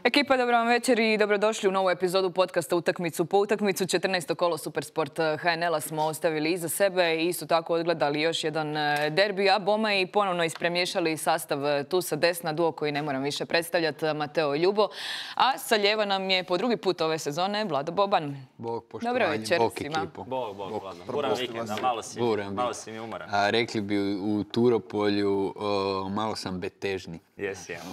Ekipa, dobro vam večer i dobrodošli u novu epizodu podcasta Utakmicu po utakmicu. 14. kolo Supersport HNL-a smo ostavili iza sebe i isto tako odgledali još jedan derbi, a bome i ponovno ispremješali sastav tu sa desna, duo koji ne moram više predstavljati, Mateo i Ljubo. A sa lijeva nam je po drugi put ove sezone Vlado Boban. Bog, poštovanje, bog ekipu. Bog, Vlado. Buran vikenda, malo si mi umoran. Rekli bi u Turopolju, malo sam betežni.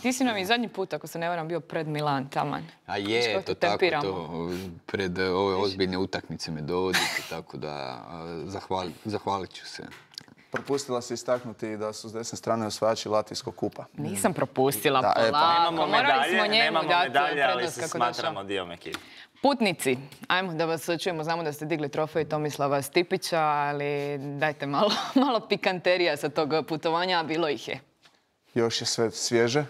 Ti si nam i zadnji put, ako se ne varam, bio pred Milan taman. A je, to tako, to pred ove ozbiljne utakmice me dovodite, tako da zahvalit ću se. Propustila si istaknuti da su s desne strane osvajači Latvijskog kupa. Nisam propustila, polako. Nemamo medalje, ali se smatramo dijom ekipe. Putnici, ajmo da vas čujemo, znamo da ste digli trofej Tomislava Stipića, ali dajte malo pikanterija sa tog putovanja, a bilo ih je. Još je sve svježe,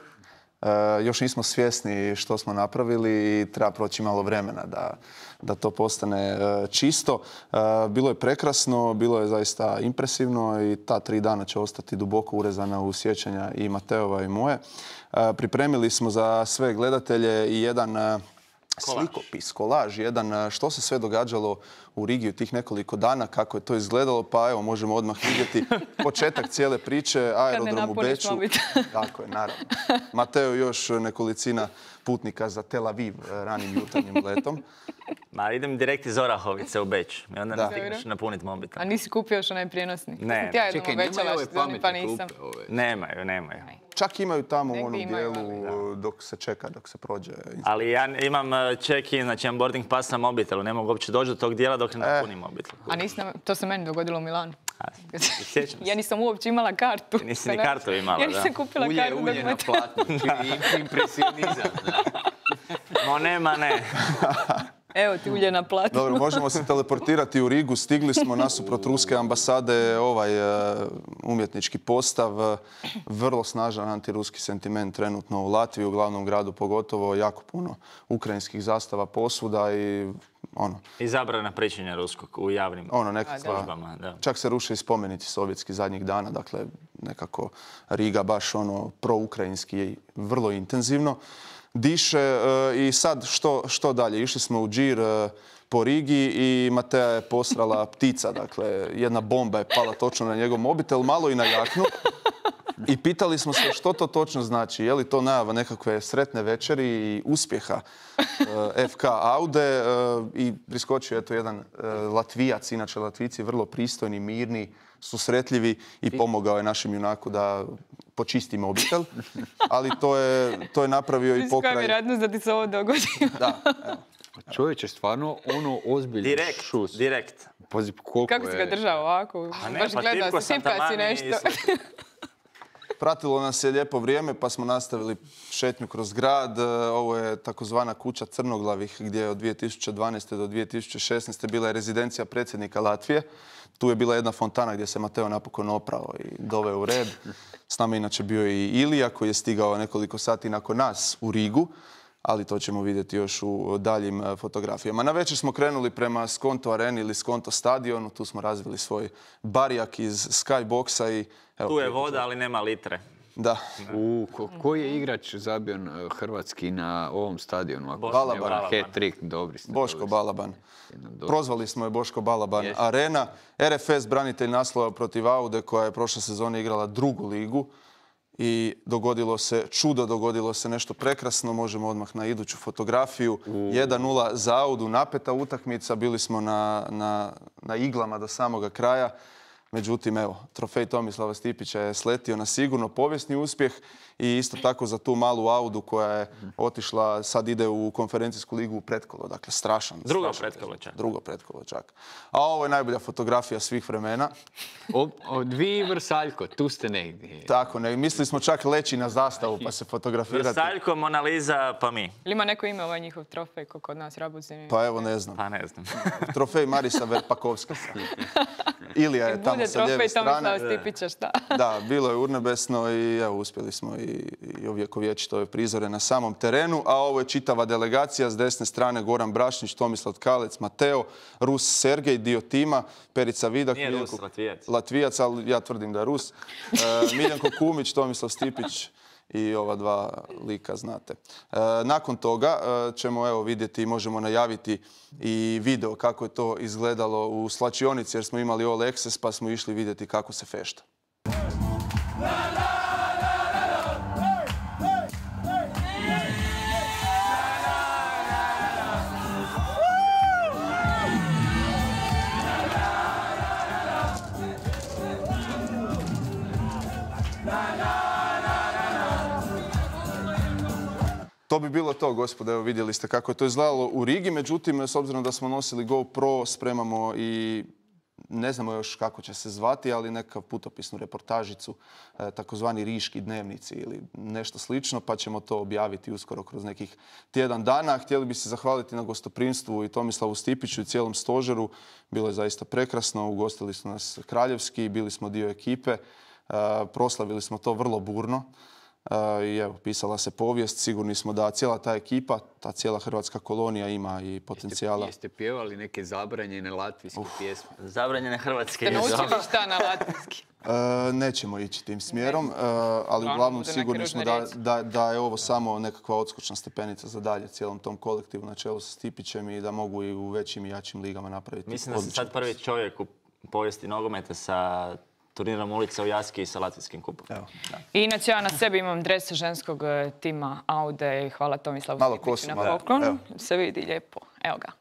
još nismo svjesni što smo napravili i treba proći malo vremena da to postane čisto. Bilo je prekrasno, bilo je zaista impresivno i ta 3 dana će ostati duboko urezana u sjećanja i Mateova i moje. Pripremili smo za sve gledatelje i jedan slikopis, kolaž, jedan što se sve događalo u Rigi u tih nekoliko dana, kako je to izgledalo, pa evo možemo odmah vidjeti početak cijele priče, aerodrom u Beču. Tako je, naravno. Mateo još nekolicina putnika za Tel Aviv ranim jutarnjim letom. Ma idem direkt iz Orahovice u Beč i onda ne stigneš napuniti mobitel. A nisi kupio još onaj prijenosni? Ne. Čekaj, nemaju ove pametne klupe? Nemaju. Čak imaju tamo u onom dijelu dok se čeka, dok se prođe. Ali ja imam check-in, znači imam boarding pass na mobitelu. Ne mogu uopće doći do tog dijela dok ne napunim mobitel. A to se meni dogodilo u Milanu. Sjećam se. Ja nisam uopće imala kartu. Nisi ni kartu imala, da. Ja nisam kupila kartu. Ulje na platnu, impresionizam. No ne. Evo ti ulje na platnu. Dobro, možemo se teleportirati u Rigu. Stigli smo nasuprot ruske ambasade, umjetnički postav. Vrlo snažan antiruski sentiment trenutno u Latviji, u glavnom gradu pogotovo. Jako puno ukrajinskih zastava posvuda i i zabrana pričanja ruskog u javnim službama. Čak se ruše i spomenici sovjetski zadnjih dana. Dakle, nekako Riga baš proukrajinski i vrlo intenzivno diše. I sad što dalje? Išli smo u džir po Rigi i Matea je posrala ptica. Dakle, jedna bomba je pala točno na njegov mobitel, malo i na jaknu. I pitali smo se što to točno znači. Je li to najava nekakve sretne večeri i uspjeha FK Aude. I priskočio je to jedan Latvijac, inače Latvijci vrlo pristojni, mirni, susretljivi i pomogao je našem junaku da počisti mobitel. Ali to je napravio i pokraj... Koja vjerojatnost da ti se ovo dogodi? Da, evo. Čovječe, stvarno ozbiljno šus. Direkt. Kako si ga držao ovako? Baš gledao, tipka si nešto. Pratilo nas je lijepo vrijeme pa smo nastavili šetnju kroz grad. Ovo je takozvana kuća Crnoglavih gdje je od 2012. do 2016. bila je rezidencija predsjednika Latvije. Tu je bila jedna fontana gdje se Mateo napokon oprao i doveo u red. S nama inače bio i Ilija koji je stigao nekoliko sati nakon nas u Rigu, ali to ćemo vidjeti još u daljim fotografijama. Na večer smo krenuli prema Skonto areni ili Skonto stadionu. Tu smo razvili svoj barijak iz skyboxa i... Tu je voda, ali nema litre. Da. Koji je igrač zabio hrvatski na ovom stadionu? Balaban. Hat-trick, dobri. Boško Balaban. Prozvali smo je Boško Balaban arena. RFS, branitelj naslova protiv Aude, koja je prošle sezone igrala 2. ligu. I dogodilo se nešto prekrasno. Možemo odmah na iduću fotografiju. 1:0 za Audu, napeta utakmica. Bili smo na iglama do samoga kraja. Međutim, evo, trofej Tomislava Stipića je sletio na sigurno povijesni uspjeh i isto tako za tu malu Audu koja je otišla, sad ide u konferencijsku ligu u pretkolo. Dakle, strašan. Drugo pretkolo čak. A ovo je najbolja fotografija svih vremena. Vi Vrsaljko, tu ste negdje. Tako, mislili smo čak leći na zastavu pa se fotografirati. Vrsaljko, Mona Lisa, pa mi. Ili ima neko ime ovaj njihov trofej ko kod nas Rabuzi? Pa evo, ne znam. Pa ne znam. Trofej Marisa Verpakovska. Ilija je tamo sa lijeve strane. Stipića, šta? Da, bilo je urnebesno i evo, uspjeli smo i ovjekovječiti ove prizore na samom terenu. A ovo je čitava delegacija. S desne strane Goran Brašnić, Tomislav Tkalec, Mateo, Rus Sergej, dio tima, Perica Vidak. Nije Rus, Latvijac, ali ja tvrdim da je Rus. Miljenko Kumić, Tomislav Stipić i ova dva lika znate. Nakon toga ćemo vidjeti i možemo najaviti i video kako je to izgledalo u slačionici jer smo imali All Access pa smo išli vidjeti kako se fešta. To bi bilo to, gospode, evo vidjeli ste kako je to izgledalo u Rigi, međutim, s obzirom da smo nosili GoPro, spremamo i ne znamo još kako će se zvati, ali nekav putopisnu reportažicu, takozvani Riški dnevnici ili nešto slično, pa ćemo to objaviti uskoro kroz nekih tjedan dana. Htjeli bi se zahvaliti na gostoprimstvu i Tomislavu Stipiću i cijelom stožeru. Bilo je zaista prekrasno, ugostili su nas kraljevski, bili smo dio ekipe, proslavili smo to vrlo burno. I evo, pisala se povijest, sigurni smo da cijela ta ekipa, ta cijela hrvatska kolonija ima i potencijala. Jeste pjevali neke zabranjene latvijske pjesme? Zabranjene hrvatske. Ste naučili šta na latvijski? Nećemo ići tim smjerom, ali uglavnom sigurni smo da je ovo samo nekakva odskočna stepenica za dalje cijelom tom kolektivu na čelu sa Stipićem i da mogu i u većim i jačim ligama napraviti. Mislim da sam sad prvi čovjek u povijesti nogometa sa turnirom ulica u Jaski i sa latvijskim kupom. I inače ja na sebi imam dres ženskog tima Aude i hvala Tomislavu Stipiću na poklonu. Se vidi lijepo. Evo ga.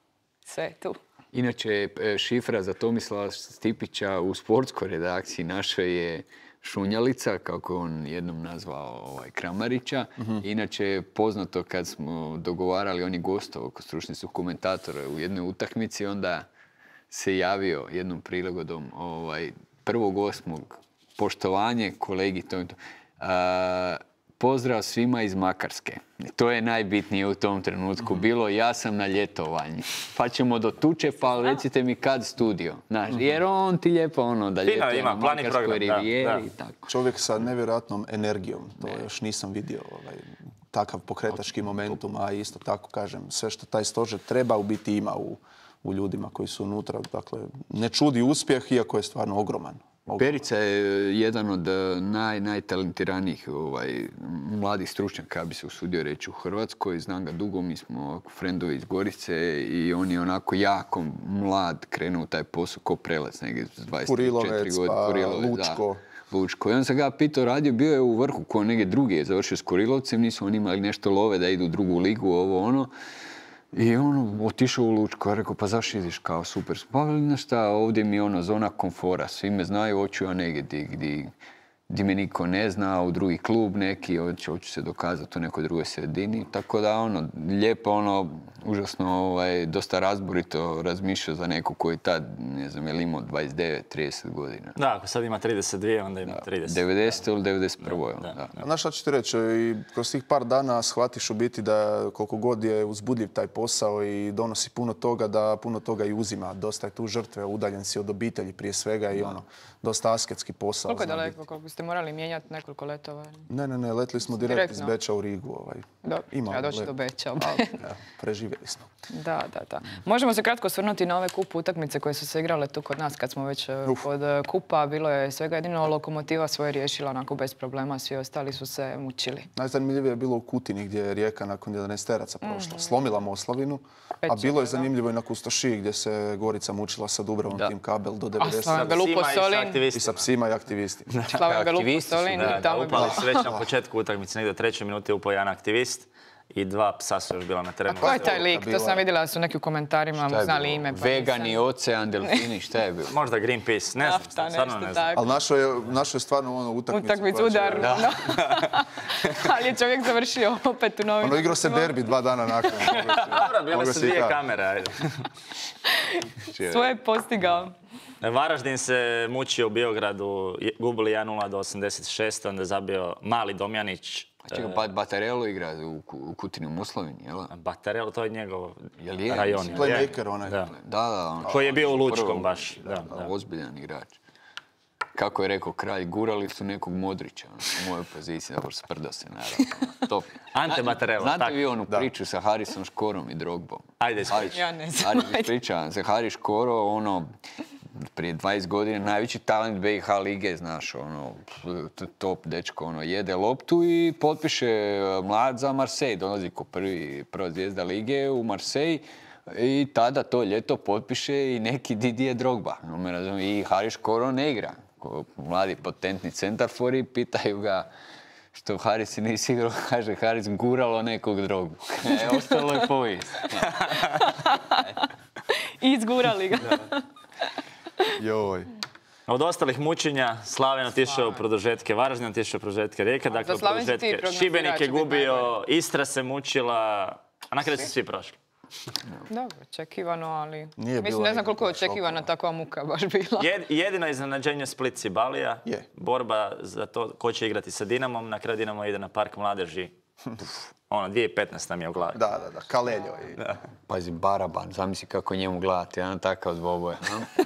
Sve je tu. Inače, šifra za Tomislava Stipića u sportskoj redakciji našoj je Šunjalica, kako je on jednom nazvao Kramarića. Inače je poznato kad smo dogovarali, on je gostao kod stručni su komentatora u jednoj utakmici, onda se javio jednom prilagodom 1.8. poštovanje kolegi pozdrav svima iz Makarske. To je najbitnije u tom trenutku bilo. Ja sam na ljetovanju. Pa ćemo do tuče, pa recite mi kad studio. Jer on ti lijepo da ljetuje na Makarskoj rivijeri i tako. Čovjek sa nevjerojatnom energijom. To još nisam vidio. Takav pokretački momentum, a isto tako kažem, sve što taj stožer treba u biti ima u ljudima koji su unutra. Dakle, ne čudi uspjeh, iako je stvarno ogroman. Perica je jedan od najtalentiranijih mladih stručnjaka, bi se usudio reći, u Hrvatskoj. Znam ga dugo, mi smo frendovi iz Gorice i on je onako jako mlad krenuo u taj posao ko prelac, negdje s 24 godine. Lučko. I on sam ga pitao, radio, bio je u vrhu ko negdje drugi je završio s Kurilovcem, nisu oni imali nešto love da idu u drugu ligu, ovo ono. I otišao u Lučko, rekao, pa zašto ideš kao super? Pa šta, ovdje mi je zona komfora, svi me znaju, hoću ja negdje gdje me niko ne zna, u drugi klub neki, hoću se dokazati u nekoj drugoj sredini. Tako da lijepo, užasno, dosta razborito razmišljao za neko koji tad, ne znam, je imao 29-30 godina. Da, ako sad ima 32, onda ima 30. 90. ili 91. Da. Znaš šta ću ti reći, i kroz tih par dana shvatiš u biti da koliko god je uzbudljiv taj posao i donosi puno toga, da puno toga i uzima. Dosta je tu žrtve, udaljen si od obitelji prije svega i dosta asketski posao. Koliko je daleko, koliko ste morali mijenjati nekoliko letova? Ne, letili smo direkt iz Beča u Rigu. Ja doći do Beča. Preživjeli smo. Da. Možemo se kratko osvrnuti na ove kup utakmice koje su se igrale tu kod nas kad smo već kod kupa. Bilo je svega jedino Lokomotiva svoje riješila onako bez problema, svi ostali su se mučili. Najzanimljivije je bilo u Kutini gdje je Rijeka nakon 11 teraca prošla. Slomila Moslavinu, a bilo je zanimljivo i na Kustošiji gdje se Gorica mučila sa Dubrovom tim kabel do 90. I sa psima i aktivistima. Slaven Belupo Solin i tamo je bilo. Upali već na početku utakmice, negdje u 3. minuti upao jedan aktivist i 2 psa su još bila na terenu. A ko je taj lik? To sam vidjela da su neki u komentarima znali ime. Vegani, ocean, delfini, šta je bilo? Možda Greenpeace, ne znam, stvarno ne znam. Ali našo je stvarno utakmicu udar. Ali je čovjek završio opet u novinu. Igrao se derbi 2 dana nakon. Dobro, bile su 2 kamere. Svoje postigao. Varaždin se mučio u Beogradu, gubili 1-0 do 86, onda je zabio Mali Domjanić. A čekaj, Batarelo igra u Kutini u Moslavini, jel? Batarelo, to je njegov je rajon. Playmaker onaj. Da. Koji je bio u Lučkom baš. Ozbiljan igrač. Kako je rekao kralj, gurali su nekog Modrića u mojoj poziciji, dobro sprda se naravno. Top. Ante Batarelo. Znate vi onu priču sa Harisom Škorom i Drogbom? Ajde ispričaj. Ja ne znam. Ispričavam se, Haris Škoro, prije 20 godina najveći talent BiH lige, znaš, ono, top dečko, ono, jede loptu i potpiše mlad za Marseille, dolazi ko prva zvijezda lige u Marseille i tada to ljeto potpiše i neki Didier Drogba, i Haris Koro ne igra, mladi potentni centarfor i pitaju ga što Haris nisi igrao, kaže Haris guralo nekog Drogbu. Ostalo je povijest. Izgurali ga. Joj. Od ostalih mučenja, Slaven otišao u produžetke, Varaždin otišao u produžetke, Rijeka, dakle u produžetke, Šibenik je gubio, Istra se mučila, a na kraju su svi prošli. Dobro, očekivano, ali... Nije Mislim, bilo ne znam koliko je nikakvih očekivana šokova. takva muka baš bila. Jedino iznenađenje Split Cibalija, Je. borba za to ko će igrati sa Dinamom, na kraju Dinamo ide na Park mladeži. Ono, 2015 nam je u glavi. Da, Kaleljo. Pazi, Baraban, zamisli kako njemu gledati, jedan takav dvoboja.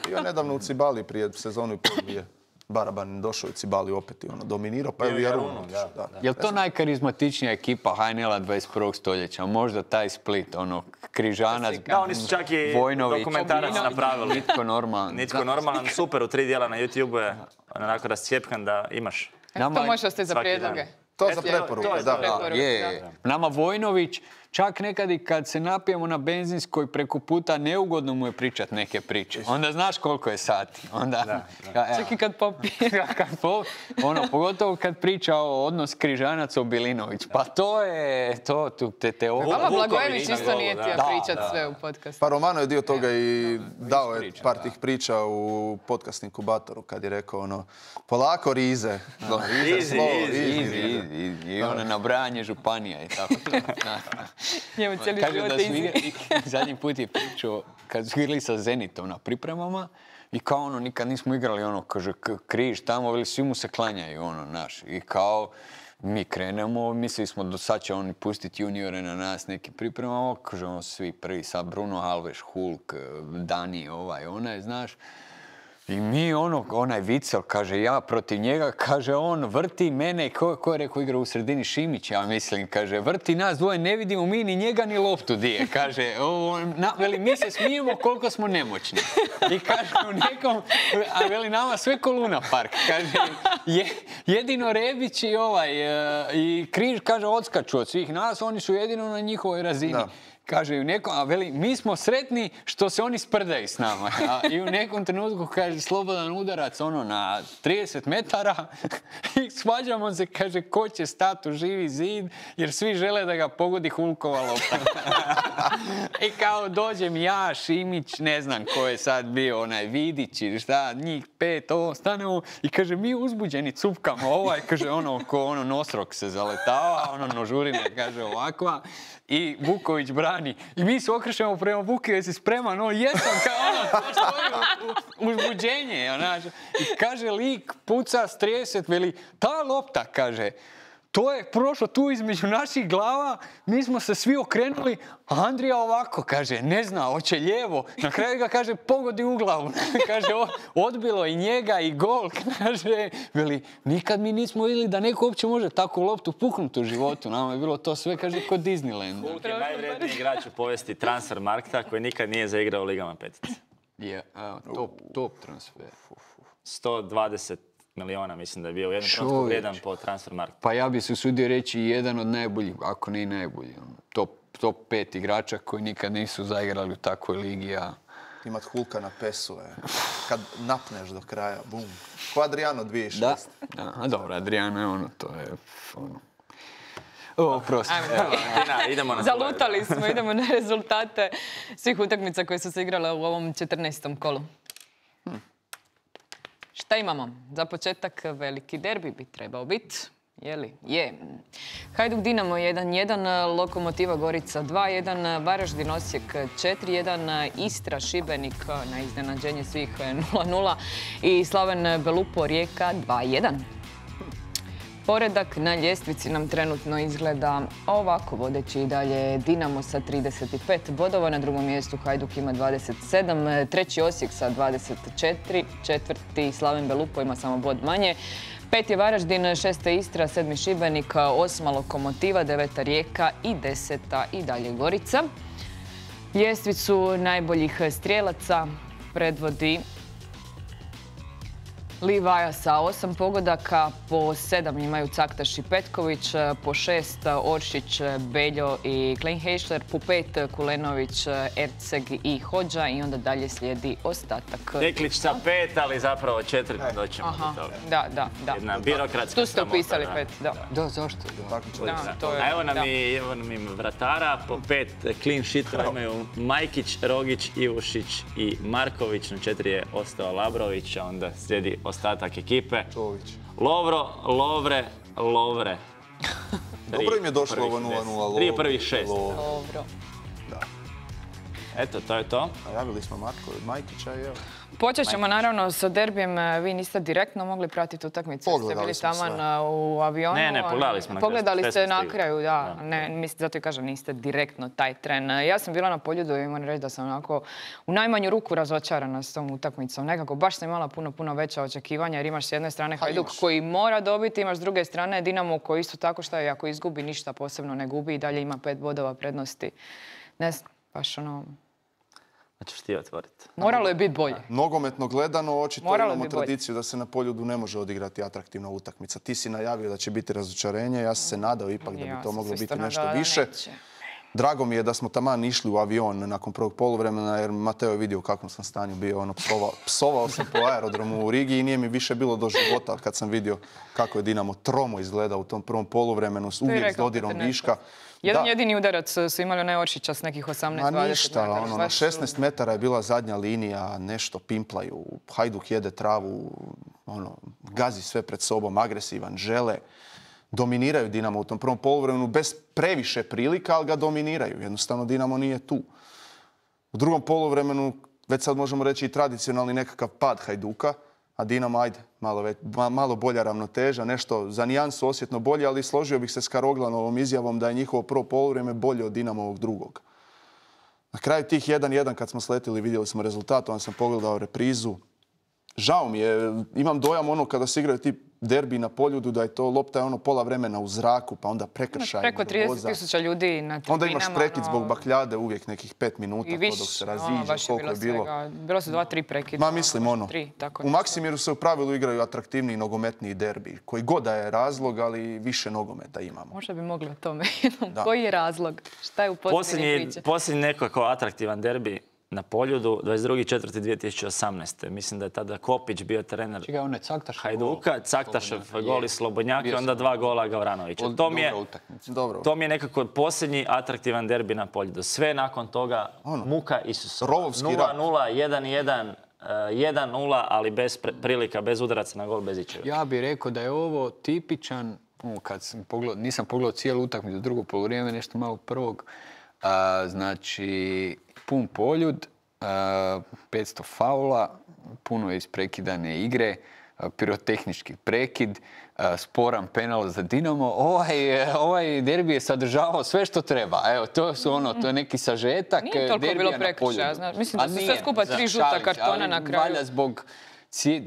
Bio nedavno u Cibali prije sezonu i pol dvije. Baraban došao u Cibali opet i ono, dominirao, pa je u Jarunu. Da. Je li to najkarizmatičnija ekipa HNL-a 21. stoljeća? Možda taj Split, ono, Križanac, Da, oni su čak i Vojnović, dokumentarac napravili. Nitko normalan. Nitko normalan, super, u 3 dijela na YouTube je onako rascijepkan da imaš. To može ostati za svaki prijedloge. dan. To za preporuke, to je da. preporuke. Je. Nama Vojnović, čak nekad i kad se napijemo na benzinskoj preko puta, neugodno mu je pričat neke priče. Onda znaš koliko je sati. Onda, Čak i kad popije. pogotovo kad priča o odnos Križanac-Bilinović. Pa to je, Vama Blagojević Vuković, isto nije htio da, pričat sve u podcastu. Pa Romano je dio toga i dao je priča, par da. tih priča u podcast inkubatoru kad je rekao ono, polako rize. Easy, easy. I ono nabrajanje županija i tako. Njemu cijeli Kaže život da je su izi. igrali, zadnji put je pričao, kad su igrali sa Zenitom na pripremama, i kao ono, nikad nismo igrali ono, kaže, križ tamo, veli, svi mu se klanjaju, ono, naš. I kao, mi krenemo, mislili smo do sad će oni pustiti juniore na nas neki pripremama, kaže, ono, svi prvi, sad Bruno Alves, Hulk, Dani, onaj, znaš. I mi onaj Vicel, kaže, ja protiv njega, kaže, on vrti mene, ko je rekao igra u sredini, Šimić, ja mislim, kaže, vrti nas dvoje, ne vidimo mi ni njega ni loptu dije, kaže, veli, mi se smijemo koliko smo nemoćni. I kaže, u nekom, a veli, nama sve ko Luna Park, kaže, jedino Rebić i Križ, kaže, odskaču od svih nas, oni su jedino na njihovoj razini. Da. Kaže, a veli, mi smo sretni što se oni sprdaju s nama. I u nekom trenutku, kaže, slobodan udarac, ono, na 30 metara i svađamo se, kaže, ko će stati u živi zid, jer svi žele da ga pogodi Hulkova lopta. I kao, dođem ja, Šimić, ne znam ko je sad bio, onaj Vidić ili šta, njih 5, stanemo i kaže, mi uzbuđeni cupkamo, kaže, ko nosrok se zaletava, nožurina, kaže, ovakva. I Vuković brani. I mi se okrećemo prema Vuki, jesi spreman? Jesam, kao stoji uzbuđenje. I kaže lik, puca s 30, veli, ta lopta, kaže, to je prošlo tu između naših glava, mi smo se svi okrenuli, a Andrija ovako, kaže, ne zna, hoće lijevo. Na kraju ga, kaže, pogodi u glavu. Kaže, odbilo i njega i gol. Kaže, veli, nikad mi nismo vidjeli da neko uopće može takvu loptu puknuti u životu. Nama je bilo to sve, kaže, kod Disneyland. Hulk je najvredniji igrač u povijesti Transfermarkta koji nikad nije zaigrao u Ligama petice. Je, top transfer. 120 miliona, mislim da je bio u jednom trenutku vrijedan po Transfermarktu. Pa ja bi se usudio reći jedan od najboljih, ako ne i najbolji. Top 5 igrača koji nikad nisu zaigrali u takvoj ligi, Imat Hulka na pesu, kad napneš do kraja, bum. Ko Adriano 2006. Da, dobro, Adriano je to je prosto. Idemo na Zalutali smo, idemo na rezultate svih utakmica koje su se igrale u ovom 14. kolu. Šta imamo? Za početak veliki derbi bi trebao biti. Je li? Je. Hajduk Dinamo 1-1, Lokomotiva Gorica 2-1, Varaždin Osijek 4-1, Istra Šibenik na iznenađenje svih 0-0 i Slaven Belupo Rijeka 2-1. Poredak na ljestvici nam trenutno izgleda ovako, vodeći i dalje Dinamo sa 35 bodova, na drugom mjestu Hajduk ima 27, treći Osijek sa 24, četvrti Slaven Belupo ima samo bod manje, peti je Varaždin, šesta Istra, sedmi Šibenik, osma Lokomotiva, deveta Rijeka i deseta i dalje Gorica. Ljestvicu najboljih strijelaca predvodi Livaja sa 8 pogodaka, po 7 imaju Caktaš i Petković, po 6 Oršić, Beljo i Kleinheišler, po 5 Kulenović, Erceg i Hođa i onda dalje slijedi ostatak. Teklić sa 5, ali zapravo 4 doćemo do toga. Da. Jedna birokratska tu ste upisali 5, da. Da, zašto? A evo nam im vratara, po 5 clean sheetova imaju Majkić, Rogić, Ivušić i Marković, na 4 je ostao Labrović, a onda slijedi ostatak ekipe. Lovro, Lovre. Dobro im je došlo ovo 0-0. 3 prvih 6. Dobro. Eto, to je to. Najavili smo Majkića i evo. Počet ćemo naravno sa derbijem. Vi niste direktno mogli pratiti utakmicu. Ste bili taman u avionu. Ne, pogledali smo. Pogledali ste na kraju, da. Zato i kažem, niste direktno taj tren. Ja sam bila na Poljudu i moram reći da sam onako u najmanju ruku razočarana s tom utakmicom. Nekako baš sam imala puno veća očekivanja jer imaš s jedne strane Hajduk koji mora dobiti, imaš s druge strane Dinamo koji isto tako šta je, ako izgubi ništa posebno ne gubi i dalje ima 5 bodova prednosti. Ne znam, baš ono... Hoćeš ti otvoriti? Moralo je biti bolje. Nogometno gledano, očito imamo tradiciju da se na Poljudu ne može odigrati atraktivna utakmica. Ti si najavio da će biti razočarenje, ja sam se nadao ipak da bi to moglo biti nešto više. Drago mi je da smo taman išli u avion nakon prvog poluvremena jer Mateo je vidio u kakvom sam stanju bio. Psovao sam po aerodromu u Rigi i nije mi više bilo do života kad sam vidio kako je Dinamo tromo izgleda u tom prvom poluvremenu, uvijek s dodirom viška. Jedan jedini udarac su imali onaj Oršića s nekih 18-20 ništa, na 16 metara je bila zadnja linija, nešto pimplaju, Hajduk jede travu, gazi sve pred sobom, agresivan, žele. Dominiraju Dinamo u tom prvom poluvremenu bez previše prilika, ali ga dominiraju. Jednostavno Dinamo nije tu. U drugom poluvremenu, već sad možemo reći i tradicionalni nekakav pad Hajduka, a Dinamo, ajde, malo bolja ravnoteža, nešto za nijansu osjetno bolje, ali složio bih se s Karoglanovom izjavom da je njihovo prvo poluvrijeme bolje od Dinamovog drugog. Na kraju tih 1-1 kad smo sletili, vidjeli smo rezultat, onda sam pogledao reprizu. Žao mi je, imam dojam kada se igraju ti derbi na Poljudu da je to lopta pola vremena u zraku, pa onda prekršaj. Preko 30.000 ljudi na tribinama. Onda imaš prekid zbog bakljade uvijek nekih 5 minuta dok se raziđe, koliko je bilo. Bilo su 2-3 prekida. Mislim u Maksimiru se u pravilu igraju atraktivniji nogometniji derbi. Koji god da je razlog, ali više nogometa imamo. Možda bi mogli o tome. Koji je razlog? Šta je u posljednje priče? Posljednji nekako atraktivan derbi na Poljudu, 22.4.2018. Mislim da je tada Kopić bio trener Hajduka, Caktašev gol i Slobodnjak i onda 2 gola Gavranovića. To mi je nekako posljednji atraktivan derbi na Poljudu. Sve nakon toga muka Isusova. 0-0, 1-1, 1-0, ali bez prilika, bez udaraca na gol, bez ičega. Ja bih rekao da je ovo tipičan, kad sam pogledao, nisam pogledao cijelu utakmicu, drugo poluvrijeme, nešto malo prvog, znači pun Poljud, 500 faula, puno isprekidane igre, pirotehnički prekid, sporan penal za Dinamo. Ovaj derbi je sadržavao sve što treba. Evo, to je neki sažetak derbija na Poljudu. Nije toliko bilo prekršaja. Mislim da su sve skupa 3 žuta kartona na kraju. Valja zbog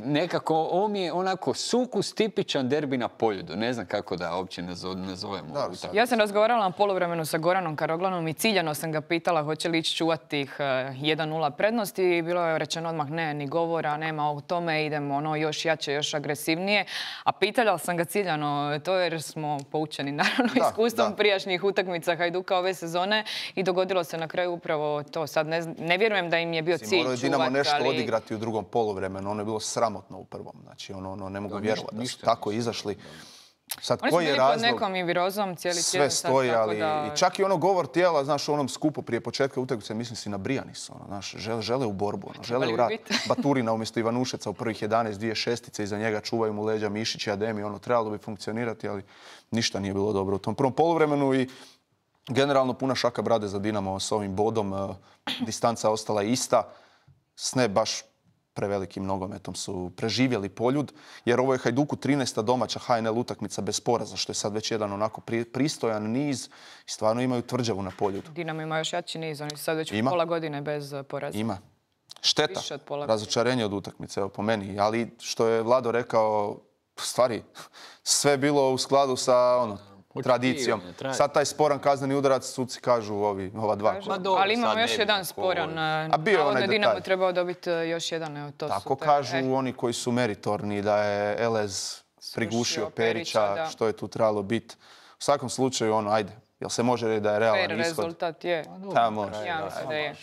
nekako, ovo mi je onako sukus tipičan derbi na Poljudu. Ne znam kako da uopće nazovemo. Ja sam razgovarala na poluvremenu sa Goranom Karoglanom i ciljano sam ga pitala hoće li ići čuvati tih 1-0 prednosti i bilo je rečeno odmah ne, ni govora, nema o tome, idemo još jače, još agresivnije. A pitala sam ga ciljano to jer smo poučeni naravno iskustvom prijašnjih utakmica Hajduka ove sezone i dogodilo se na kraju upravo to. Sad ne vjerujem da im je bio cilj čuvati. Morao je Dinamo nešto odigrati u drugom poluvremenu. Ono je bilo sramotno u prvom. Znači, ne mogu vjerovati da su tako izašli. Sad, oni su bili pod nekom i virozom cijeli tjedan. Sve stoji, ali i čak i govor tijela, znaš, u onom skupu prije početka utakmice, mislim si na Brijanis, znaš, žele u borbu, žele u rat. Baturina umjesto Ivanušeca u prvih 11, 2 šestice, iza njega čuvaju mu leđa Mišić i Ademi, trebalo bi funkcionirati, ali ništa nije bilo dobro u tom prvom poluvremenu i generalno puna šaka brade za Dinamo s ovim bodom, distanca ostala ista, s ne baš prevelikim nogometom su preživjeli Poljud, jer ovo je Hajduku 13. domaća HNL utakmica bez poraza, što je sad već jedan onako pristojan niz i stvarno imaju tvrđavu na Poljudu. Dinamo ima još jači niz, oni su sad već pola godine bez poraza. Ima. Šteta, razočarenje od utakmice, evo po meni, ali što je Vlado rekao, stvari, sve bilo u skladu sa tradicijom. Sad taj sporan kazneni udarac, suci kažu ova dva. Ali imamo još jedan sporan. Navodno Dinamo trebao dobiti još jedan. Tako kažu oni koji su meritorni, da je Elez prigušio Perića, što je tu trebalo biti. U svakom slučaju, ajde, jel se može reći da je realan ishod? Fair rezultat je. Da, može. Ja mislim da je.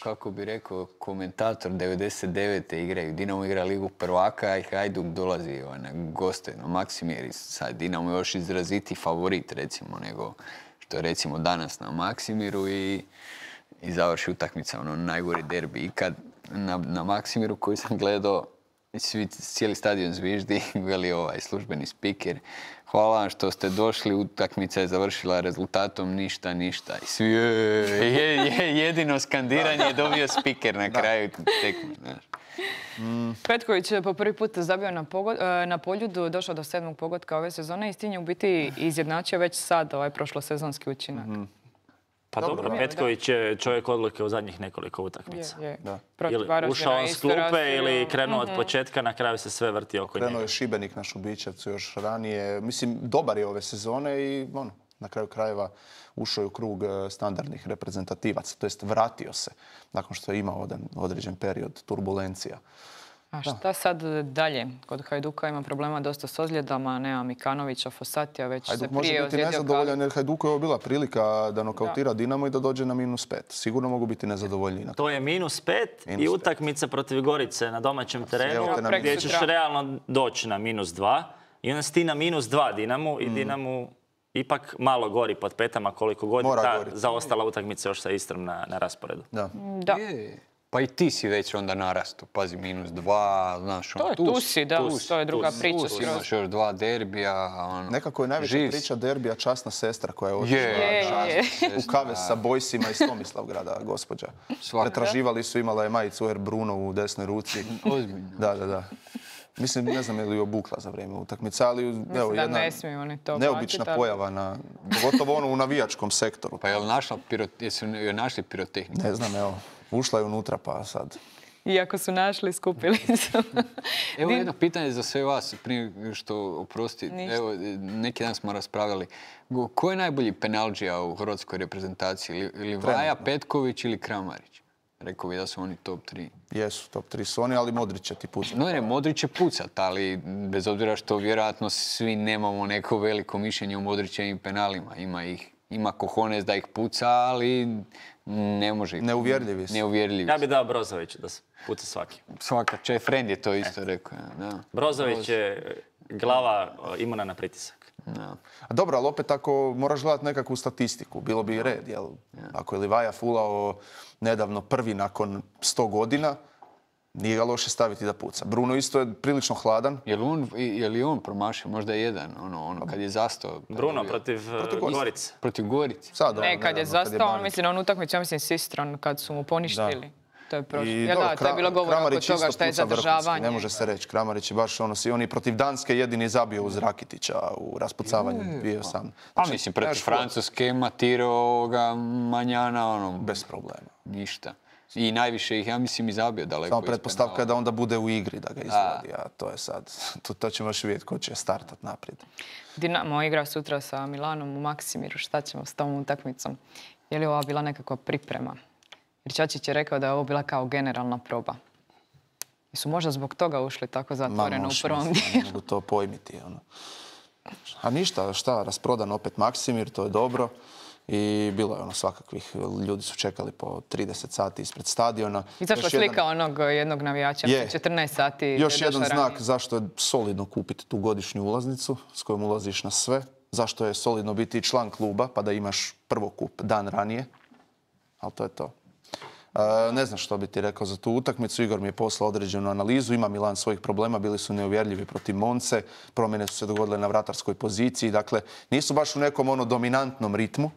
Kako bi rekao komentator, 99. igraju. Dinamo igra Ligu prvaka i Hajduk dolazi na goste na Maksimir. Sad Dinamo još izraziti favorit, recimo, nego što je recimo danas na Maksimiru i završi utakmica, najgori derbi ikad na Maksimiru koji sam gledao. Cijeli stadion zviždi, veli službeni spiker. Hvala vam što ste došli, utakmica je završila rezultatom ništa. I svi jedino skandiranje je dobio spiker na kraju tekme. Petković je po prvi put zabio na Poljudu, došao do 7. pogotka ove sezone i s tim je u biti izjednačio već sad prošlosezonski učinak. Pa dobro, Petković je čovjek odluke u zadnjih nekoliko utakmica. Ili ušao s klupe ili krenuo od početka, na kraju se sve vrti oko njega. Krenuo je Šibenik na Šubićevcu još ranije. Mislim, dobar je ove sezone i na kraju krajeva ušao je u krug standardnih reprezentativaca. To jest vratio se nakon što je imao određen period turbulencija. A šta sad dalje? Kod Hajduka ima problema dosta s ozljedama, nema Mikanovića, Fosatija, već se prije ozljedio. Može biti nezadovoljan jer Hajduku je ovo bila prilika da nokautira Dinamo i da dođe na -5. Sigurno mogu biti nezadovoljni. To je -5 i utakmica protiv Gorice na domaćem terenu gdje ćeš realno doći na -2 i onda si ti na -2 Dinamu i Dinamu ipak malo gori pod petama koliko god ta zaostala utakmica još sa Istrom na rasporedu. Da. Pa i ti si već onda narastu, pazi, -2, znaš, tu si, da, to je druga priča. Tu imaš još 2 derbija, Nekako je najveća priča derbija časna sestra koja je otišla u kavez sa Bojsima iz Tomislavgrada, gospođa. Pretraživali su, imala je majicu Air Bruno u desnoj ruci. Ozbiljno. Da. Mislim, ne znam je li obukla za vrijeme utakmice, ali jedna neobična pojava, pogotovo u navijačkom sektoru. Pa jesu joj našli pirotehniku? Ne znam, evo. Ušla je unutra, pa sad. Iako su našli, skupili su. Evo jedno pitanje za sve vas, prije što oprosti. Evo, neki dan smo raspravljali. Ko je najbolji penalđija u hrvatskoj reprezentaciji? Ili Vaja, Petković ili Kramarić? Rekao bi da su oni top 3. Jesu, top 3 su oni, ali Modrić će ti pucat. Modrić će pucat, ali bez obzira što vjerojatno svi nemamo neko veliko mišljenje o Modrićevim penalima. Ima cojones da ih puca, ali ne može ih. Neuvjerljivi su. Ja bi dao Brozoviću da se puca svaki. Svaka, Friend je to isto rekao. Da. Brozović je glava imuna na pritisak. Da. Dobro, ali opet ako moraš gledati nekakvu statistiku, bilo bi i red. Jel? Ako je Livaja fulao nedavno prvi nakon 100 godina, nije ga loše staviti da puca. Bruno isto je prilično hladan. Je li on promašio? Možda je jedan, kad je zastao. Bruno protiv Gorice. Protiv Gorice. Ne, kad je zastao, on utakmicu, ja mislim, s Istron, kad su mu poništili. To je prošlo. To je bilo govor oko toga što je zadržavanje. Ne može se reći. Kramarić je baš on i protiv Danske jedini zabio uz Rakitića u raspucavanju 2018. Pa mislim, protiv Francuske matirao ga Manjana, bez problema. Ništa. I najviše ih, ja mislim, i zabio daleko. Samo pretpostavka je da onda bude u igri da ga izvodi, a to je sad, to ćemo još vidjeti ko će startat naprijed. Dinamo igra sutra sa Milanom u Maksimiru, šta ćemo s tom utakmicom? Je li ova bila nekakva priprema? Jer Čačić je rekao da je ovo bila kao generalna proba. Jesu možda zbog toga ušli tako zatvoreno u prvom dijelu? Ne mogu to pojmiti. A ništa, rasprodan opet Maksimir, to je dobro. I bilo je svakakvih, ljudi su čekali po 30 sati ispred stadiona. Izašla slika onog jednog navijača, 14 sati. Još jedan znak zašto je solidno kupiti tu godišnju ulaznicu s kojom ulaziš na sve. Zašto je solidno biti član kluba pa da imaš prvokup dan ranije. Ali to je to. Ne znam što bi ti rekao za tu utakmicu. Igor mi je poslao određenu analizu. Ima Milan svojih problema. Bili su neuvjerljivi protiv Monce. Promjene su se dogodile na vratarskoj poziciji. Dakle, nisu baš u nekom dominantnom ritmu.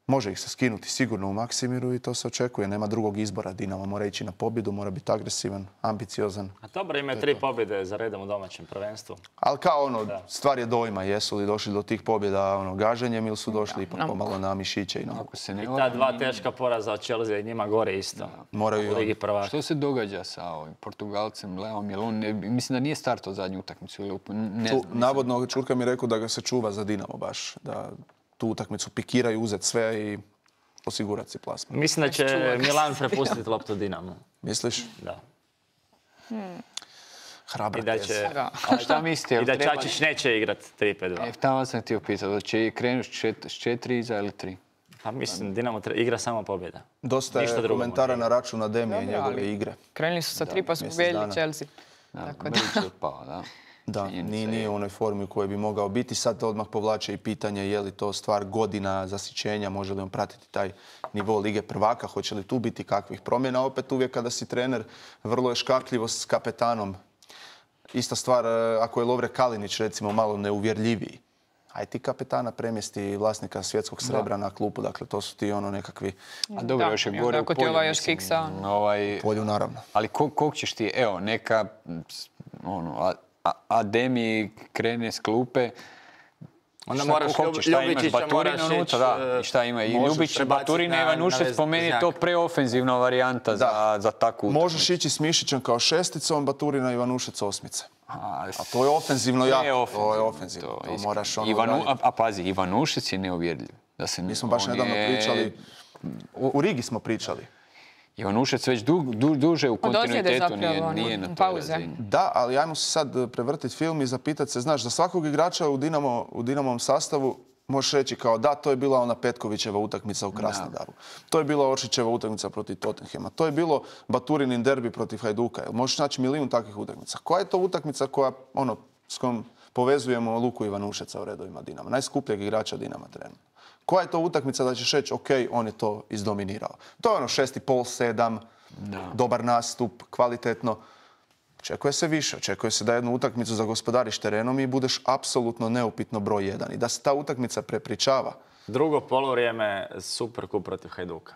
Može ih se skinuti sigurno u Maksimiru i to se očekuje. Nema drugog izbora. Dinamo mora ići na pobjedu, mora biti agresivan, ambiciozan. A dobro, imaju 3 pobjede za redom u domaćem prvenstvu. Ali kao stvar je dojma. Jesu li došli do tih pobjeda gaženjem ili su došli ipak pomalo na mišiće. I ta 2 teška poraza od Chelsea njima gore isto. Moraju u Ligi prvaka. Što se događa sa ovim Portugalcem Leom? Jer on, mislim da nije startao zadnju utakmicu. Navodno Čurka mi je rekao da ga se čuva za Dinamo baš. Da tu utakmicu pikiraju, uzeti sve i osigurati si plasman. Mislim da će Milan prepustiti loptu Dinamu. Misliš? Da. Hrabra teza. A šta mislite? I da Čačić neće igrati 3-5-2. Tamo sam htio pitati, da će krenuti s 4 iza ili 3? Pa mislim, Dinamo igra samo pobjeda. Dosta je komentara na račun Ademije i njegove igre. Krenuli su sa 3 pa su pobjedili Chelsea. Da, nije u onoj formi u kojoj bi mogao biti. Sad odmah povlače i pitanje je li to stvar godina zasićenja, može li on pratiti taj nivo Lige prvaka, hoće li tu biti kakvih promjena. Opet uvijek kada si trener, vrlo je škakljivo s kapetanom. Ista stvar ako je Lovre Kalinić recimo malo neuvjerljiviji. Aj ti kapetana premjesti vlasnika svjetskog srebra na klupu, dakle to su ti nekakvi... A dobro, još je gore u polju. Polju, naravno. Ali kog ćeš ti, evo, neka Ademi krene s klupe, onda moraš Ljubičića, moraš ići... Šta ima? I Ljubić, Baturina, Ivanušec, po meni je to preofenzivna varijanta za takvu utakmicu. Možeš ići s Mišićem kao šesticom, Baturina, Ivanušec osmice. A to je ofenzivno jako. To je ofenzivno. A pazi, Ivanušec je neuvjerljiv. Mi smo baš nedavno pričali, u Rigi smo pričali. Ivanušec već duže u kontinuitetu nije na toj razini. Da, ali ajmo se sad prevrtiti film i zapitati se, znaš, za svakog igrača u Dinamovom sastavu možeš reći kao da, to je bila ona Petkovićeva utakmica u Krasnodaru. To je bila Oršićeva utakmica protiv Tottenhama. To je bilo Baturinin derbi protiv Hajduka. Možeš naći milijun takvih utakmica. Koja je to utakmica koja, s kojom povezujemo Luku Ivanušeca u redovima Dinama? Najskupljeg igrača Dinama trenutno. Koja je to utakmica da ćeš reći, ok, on je to izdominirao. To je 6,5, 7, dobar nastup, kvalitetno. Očekuje se više. Očekuje se da jednu utakmicu zagospodariš terenom i budeš apsolutno neupitno broj 1. I da se ta utakmica prepričava. Drugo polovrijeme Superkup protiv Hajduka.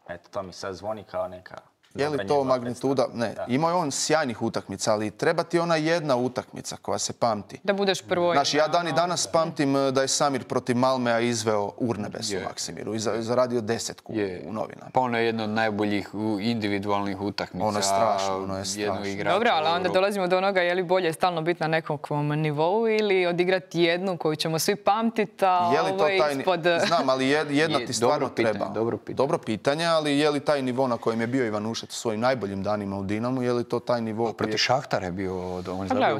Eto, to mi sad zvoni kao neka... Je li to magnituda? Ne. Imao je on sjajnih utakmica, ali treba ti ona jedna utakmica koja se pamti. Da budeš prvo... Znaš, ja dan i danas pamtim da je Samir protiv Malmea izveo Urnebes u Maksimiru i zaradio 10 u novinama. Pa ono je jedno od najboljih individualnih utakmica. Ono je strašno, Dobro, ali onda dolazimo do onoga je li bolje stalno biti na nekakvom nivou ili odigrati jednu koju ćemo svi pamtiti, a ovo je ispod... Znam, ali jedna ti stvarno treba. Dobro pitanje, ali je li taj nivo na kojem je bio Ivanušec u svojim najboljim danima u Dinamu, je li to taj nivo... Protiv Šahtara je bio...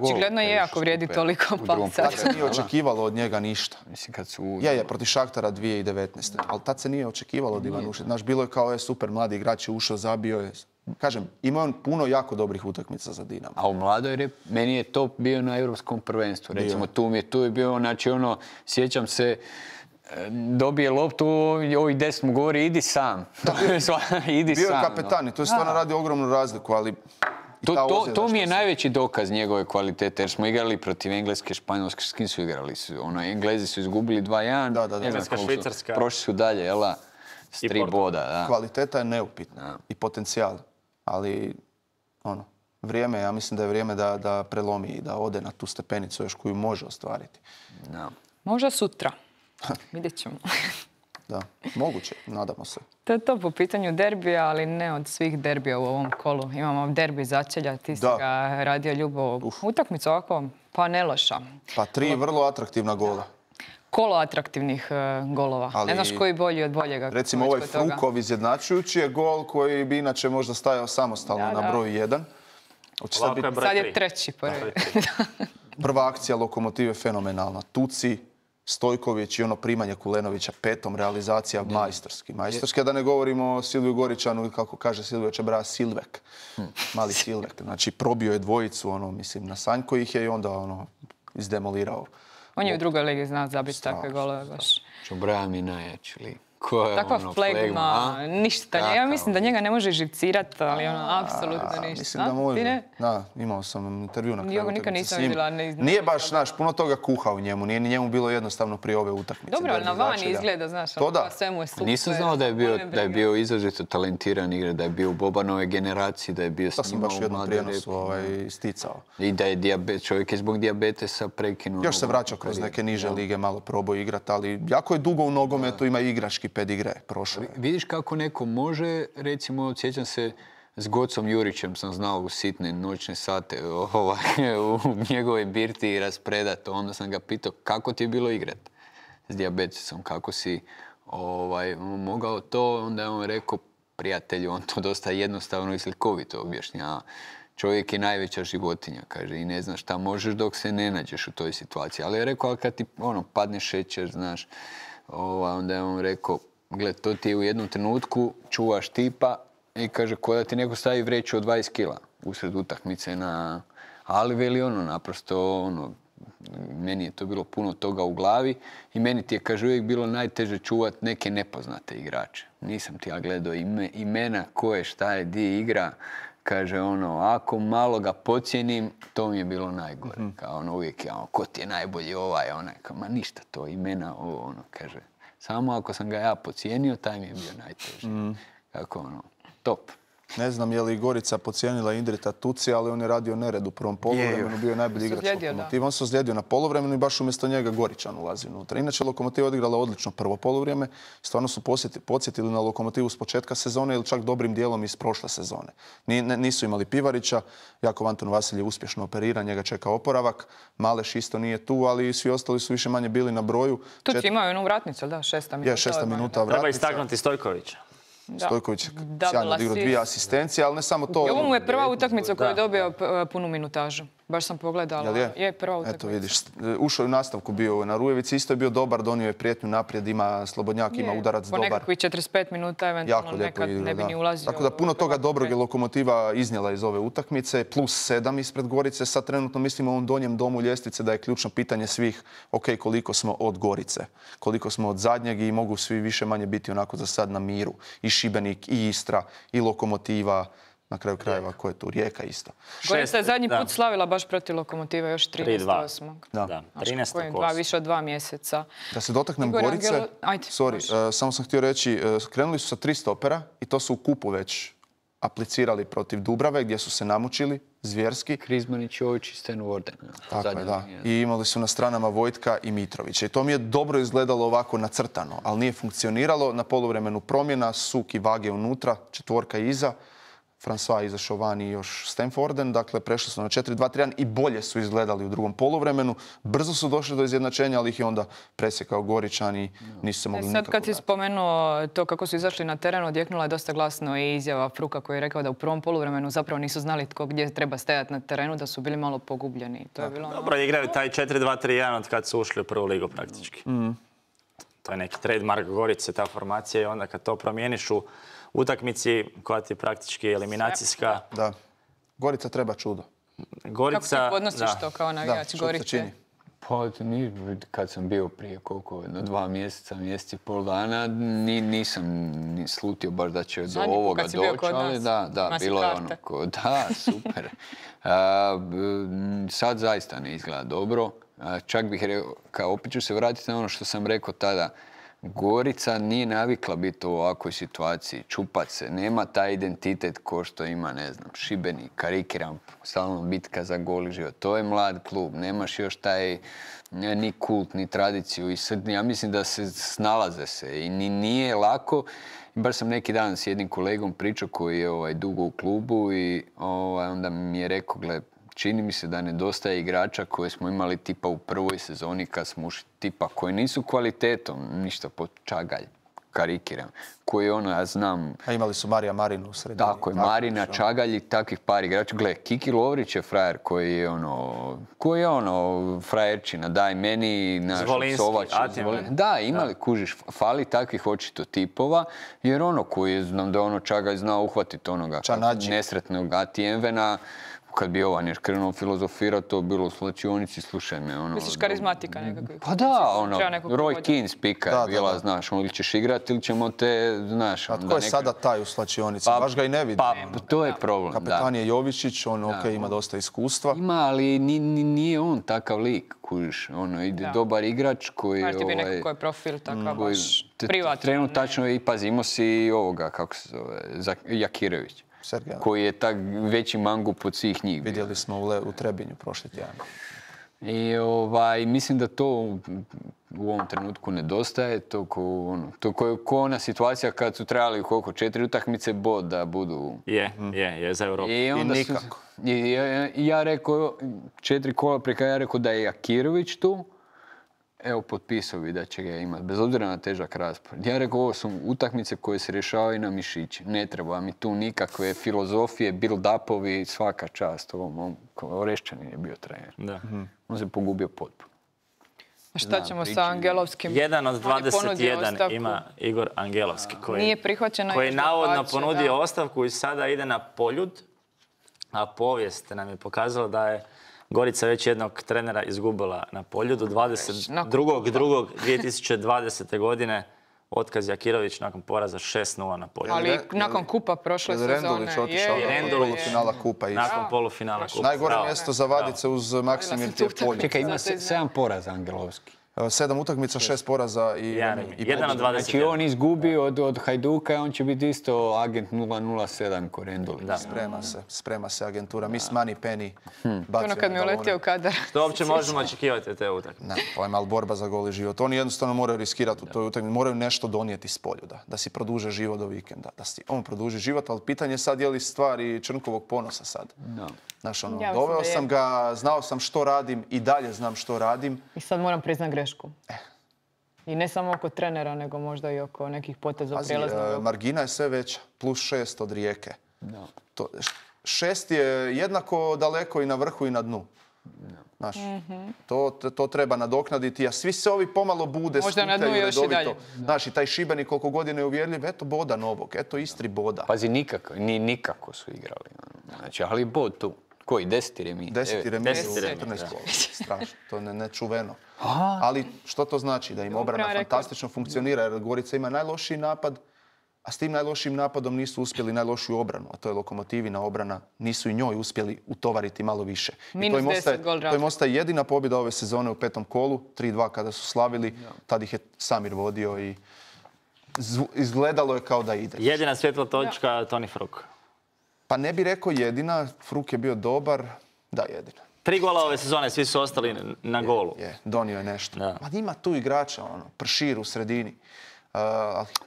Očigledno je ako vrijedi toliko palca. Tad se nije očekivalo od njega ništa. Je, protiv Šahtara 2019. Ali tad se nije očekivalo od Ivanušeca. Znaš, bilo je kao super mladi igrač je ušao, zabio je. Kažem, imao on puno jako dobrih utakmica za Dinamo. A u mladoj meni je to bio na Europskom prvenstvu. Recimo, tu je bio, znači sjećam se, dobije loptu, ovih 10 mu govori, idi sam. Bio je kapetan i to je stvarno radi ogromnu razliku, ali... To mi je najveći dokaz njegove kvalitete, jer smo igrali protiv Engleske, Španjolske, s kim su igrali? Englezi su izgubili 2-1, Engleska, Švicarska. Prošli su dalje, jela, s 3 boda. Kvaliteta je neupitna i potencijal, ali vrijeme, ja mislim da je vrijeme da prelomi i da ode na tu stepenicu još koju može ostvariti. Možda sutra. Vidjet ćemo. Da, moguće, nadamo se. To je to po pitanju derbija, ali ne od svih derbija u ovom kolu. Imamo derbi začelja, ti si ga radio Ljubo. Utakmicu ovako, pa ne loša. Pa 3 vrlo atraktivna gola. Kolo atraktivnih golova. Ne znaš koji bolji od boljega. Recimo ovaj Frukov izjednačujući je gol koji bi inače možda stajao samostalno na broju 1. Sad je treći prvi. Prva akcija Lokomotive fenomenalna. Tuci, Stojković i primanje Kulenovića 5. realizacija majstorski. Majstorski, a da ne govorimo o Silviju Goričanu ili kako kaže Silvio Čebraja, Silvek. Mali Silvek. Znači, probio je dvojicu, na Sanjko ih je i onda izdemolirao. On je u drugoj ligi znao zabiti takve golove baš. Čebraja mi najjači lik. Takva flegma, ništa. Ja mislim da njega ne može živcirati, ali apsolutno ništa. Mislim da može. Da, imao sam intervju na kraju utakmice s njim. Nije baš, znaš, puno toga kuha u njemu. Nije ni njemu bilo jednostavno prije ove utakmice. Dobro, ali na vani izgleda, znaš, sve mu je super. Nisam znao da je bio izrazito talentiran igrač, da je bio u Bobanove generaciji, da je bio s njima u mladeži. To sam baš u jednom prijenosu isticao. I da je čovjek je zbog dijabetesa prekinuo. Još se vraća kroz neke niže lige, malo probao igrati, ali jako je dugo u nogometu, ima igrački pedigre prošle. Vidiš kako neko može, recimo, sjećam se s Gocom Jurićem sam znao u sitne noćne sate u njegove birti raspredat. Onda sam ga pitao kako ti je bilo igrat s dijabetesom, kako si mogao to. Onda je on rekao, prijatelju, on to dosta jednostavno i slikovito objašnjava. Čovjek je najveća životinja, kaže, i ne znaš šta možeš dok se ne nađeš u toj situaciji. Ali je rekao, ali kad ti padne šećer, znaš, onda je on rekao, gled, to ti je u jednom trenutku, čuvaš tipa i kaže, ko da ti neko stavi vreću od 20 kila usred utakmice na... Ali veli naprosto, meni je to bilo puno toga u glavi i meni ti je, kaže, uvijek bilo najteže čuvat neke nepoznate igrače. Nisam ti ja gledao imena, ko je, šta je, di igra. Kaže, ako malo ga pocijenim, to mi je bilo najgore. Kao uvijek je, ko ti je najbolji onaj. Kao, ma ništa to, imena, kaže. Samo ako sam ga ja pocijenio, taj mi je bio najteži. Kako top. Ne znam je li Gorica pocijenila Indrita Tuci, ali on je radio nered u prvom poluvremenu, bio je najbolji igrač Lokomotiva. On se ozlijedio na poluvremenu i baš umjesto njega Goričan ulazi unutra. Inače, Lokomotiva odigrala odlično prvo poluvrijeme. Stvarno su podsjetili na Lokomotivu s početka sezone ili čak dobrim dijelom iz prošle sezone. Nisu imali Pivarića, Jakov Anton Vasiljev uspješno operira, njega čeka oporavak. Maleš isto nije tu, ali svi ostali su više manje bili na broju. Tuci imao jednu vratnicu, da, 6 minuta. Je, 6 minuta vratnica. Treba istaknuti Stojkovića. Stojković sjajno odigrao 2 asistencije, ali ne samo to. Ovo mu je prva utakmica koju je dobio punu minutažu. Baš sam pogledala. Je prva utakmica. Eto vidiš, ušao je u nastavku bio na Rujevici, isto je bio dobar, donio je prijetnju naprijed, ima Slobodnjak, ima udarac dobar. Po nekakvih 45 minuta eventualno nekad ne bi ni ulazio. Tako da puno toga dobrog je Lokomotiva iznijela iz ove utakmice, plus 7 ispred Gorice. Sad trenutno mislimo u ovom donjem domu ljestvice da je ključno pitanje svih, koliko smo od Gorice, koliko smo od zadnjeg i mogu svi više manje biti onako za sad na miru. I Šibenik, i Istra, i Lokomotiva. Na kraju krajeva, ko je tu? Rijeka isto. Gorica je zadnji put slavila baš protiv Lokomotive, još 13.8. Da, 13.8. Više od 2 mjeseca. Da se dotaknem Gorice, samo sam htio reći, krenuli su sa 3 stopera i to su u kupu već aplicirali protiv Dubrave, gdje su se namučili zvjerski. Krizmanić, Jović i Sten Warden. Tako je, da. I imali su na stranama Vojtka i Mitrovića. I to mi je dobro izgledalo ovako nacrtano, ali nije funkcioniralo. Na poluvremenu promjena, Suk i Vage unutra, 4 iza. François izašao van i još Stanforden, dakle prešli su na 4-2-3-1 i bolje su izgledali u drugom poluvremenu. Brzo su došli do izjednačenja, ali ih je onda presjekao Goričan i nisu se mogli nikako vratiti. Sad kad si spomenuo to kako su izašli na teren, odjeknula je dosta glasno i izjava Fruka koji je rekao da u prvom poluvremenu zapravo nisu znali tko gdje treba stajati na terenu, da su bili malo pogubljeni. To je bilo dobro, igraju taj 4-2-3-1 od kad su ušli u prvu ligu praktički. To je neki trademark Gorice, ta formacija, i onda kad to promijeniš u utakmici koja ti je praktički eliminacijska. Da. Gorica treba čudo. Kako ti podnosiš to kao navijač Gorice? Pa kad sam bio prije dva mjeseca, mjesec i pol dana, nisam slutio baš da će do ovoga doći, ali da, bilo je da, super. Sad zaista ne izgleda dobro. Čak bih rekao, opet ću se vratiti na ono što sam rekao tada. Gorica nije navikla biti u ovakvoj situaciji, čupat se, nema taj identitet ko što ima, ne znam, Šibenik, karikiram, stalno bitka za gol i život. To je mlad klub, nemaš još taj ni kult, ni tradiciju i sad ja mislim da se snalaze se i nije lako. Baš sam neki dan s jednim kolegom pričao koji je dugo u klubu i onda mi je rekao, gle, čini mi se da nedostaje igrača koje smo imali tipa u prvoj sezoni kad smo ušli, tipa koji nisu kvalitetom, ništa po Čagalj, karikiram, koji ja znam... A imali su Marija Marinu u sredini. Tako je, Marina, Čagalj i takvih par igrača. Gle, Kiki Lovrić je frajer koji je frajerčina, daj meni naš Sovač. Da, imali, kužiš, fali takvih očito tipova, jer koji znam da Čagalj znao uhvatiti onoga nesretnog Atijenvena, kad bi Jovan još krenuo filozofirati, to bilo u slačionici, slušaj me. Ono, misliš karizmatika nekakvih? Pa da, ono, Roy Keane spika je bila, znaš, ili ćeš igrati ili ćemo te, znaš. A tko je sada taj u slačionici? Baš ga i ne vidim. Pa, to je problem, Kapetan je Jovičić, on ima dosta iskustva. Ima, ali nije on takav lik, kužiš. Ono, ide dobar igrač koji... Znaš ti bi neko koji je profil takav, baš privatno. Trenutačno i pazimo si ovoga, kako se zove, Jakirević. Sergej. Koji je tak veći mangup od svih njih. Vidjeli smo u Trebinju prošli tjedan. I mislim da to u ovom trenutku nedostaje. To je ko ona situacija kad su trebali 4 utakmice bod da budu... Je za Europu. I nikako. Ja rekao, 4 kola preka ja rekao da je Jakirović tu. Evo, potpisao bi da će ga imati, bez obzira na težak raspored. Ja rekao, ovo su utakmice koje se rješavaju na mišići. Ne treba mi tu nikakve filozofije, build-upovi, svaka čast. Orešćanin je bio trener. Da. On se pogubio potpuno. A šta ćemo sa Angelovskim? Jedan od 21 ima Igor Angelovski, koji je navodno ponudio ostavku i sada ide na Poljud. A povijest nam je pokazala da je Gorica već jednog trenera izgubila na Poljudu. 22.2020. godine otkaz Jakirović nakon poraza 6-0 na Poljudu. Ali nakon kupa prošle sezone. Rendulić otišao nakon polufinala kupa. Nakon polufinala kupa. Najgore mjesto za Vadice uz Maksimir Poljud. Čekaj, ima 7 poraza Angelovski. 7 utakmica, 6 poraza i jedan od 20. Znači on izgubio od Hajduka, on će biti isto agent 007 ko Rendulić. Sprema se agentura. Miss Money Penny. Ono kad mi je uletio kadar. Što uopće možemo očekivati od te utakmice? Ne, pojma, ali borba za gol i život. Oni jednostavno moraju riskirati u toj utakmici. Moraju nešto donijeti s Poljuda. Da si produže život do vikenda. Da si on produži život, ali pitanje sad je li stvar i Črnkovog ponosa sad. Znaš, doveo sam ga, znao sam što radim i dalje znam što radim. I sad moram priznat grešku. I ne samo oko trenera, nego možda i oko nekih poteza u prijelaznom. Margina je sve veća, plus 6 od Rijeke. 6 je jednako daleko i na vrhu i na dnu. Znaš, to treba nadoknaditi, a svi se ovi pomalo bude, možda na dnu još i dalje. Znaš, i taj Šibenik koliko godine je uvjerljiv, eto boda novog, eto Istri boda. Pazi, nikako su igrali. Znači, ali bod tu. Koji? 10 remis? 10 remis u 14 kola. Strašno, to je nečuveno. Ali što to znači? Da im obrana fantastično funkcionira, jer Gorica ima najlošiji napad, a s tim najlošijim napadom nisu uspjeli najlošiju obranu, a to je Lokomotivina obrana, nisu i njoj uspjeli utovariti malo više. Minus 10 gol razlika. To im ostaje jedina pobjeda ove sezone u 5. kolu, 3-2 kada su slavili, tad ih je Samir vodio i izgledalo je kao da ide. Jedina svjetla točka, Toni Fruk. Pa ne bi rekao jedina, Fruk je bio dobar, da jedina. 3 gola ove sezone, svi su ostali na golu. Donio je nešto. Ma ima tu igrača, Pršir u sredini.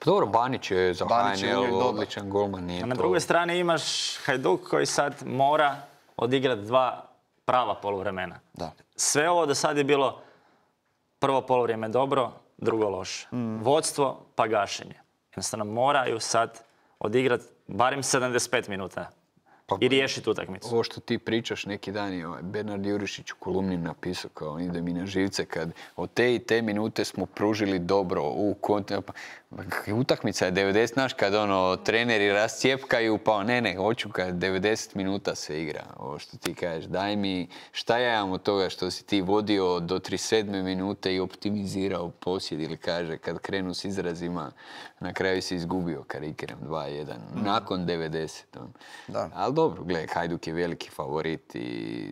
Dobro, Banić je za HNL odličan golman. A na drugoj strani imaš Hajduk koji sad mora odigrati 2 prava poluvremena. Sve ovo do sad je bilo prvo poluvrijeme dobro, drugo loše. Vodstvo pa gašenje. Jednostavno moraju sad odigrati barem 75 minuta i riješiti utakmicu. Ovo što ti pričaš neki dan je Bernard Jurišić u kolumni napisao kao ide mi na živce kad od te i te minute smo pružili dobro utakmica je 90, znaš kad treneri rascijepkaju pa ne, hoću kad 90 minuta se igra. Ovo što ti kažeš, daj mi šta ja imam od toga što si ti vodio do 37 minute i optimizirao posjed ili kaže kad krenu s izrazima na kraju si izgubio karikiram 2-1 nakon 90. Ali dobro, gledaj, Hajduk je veliki favorit i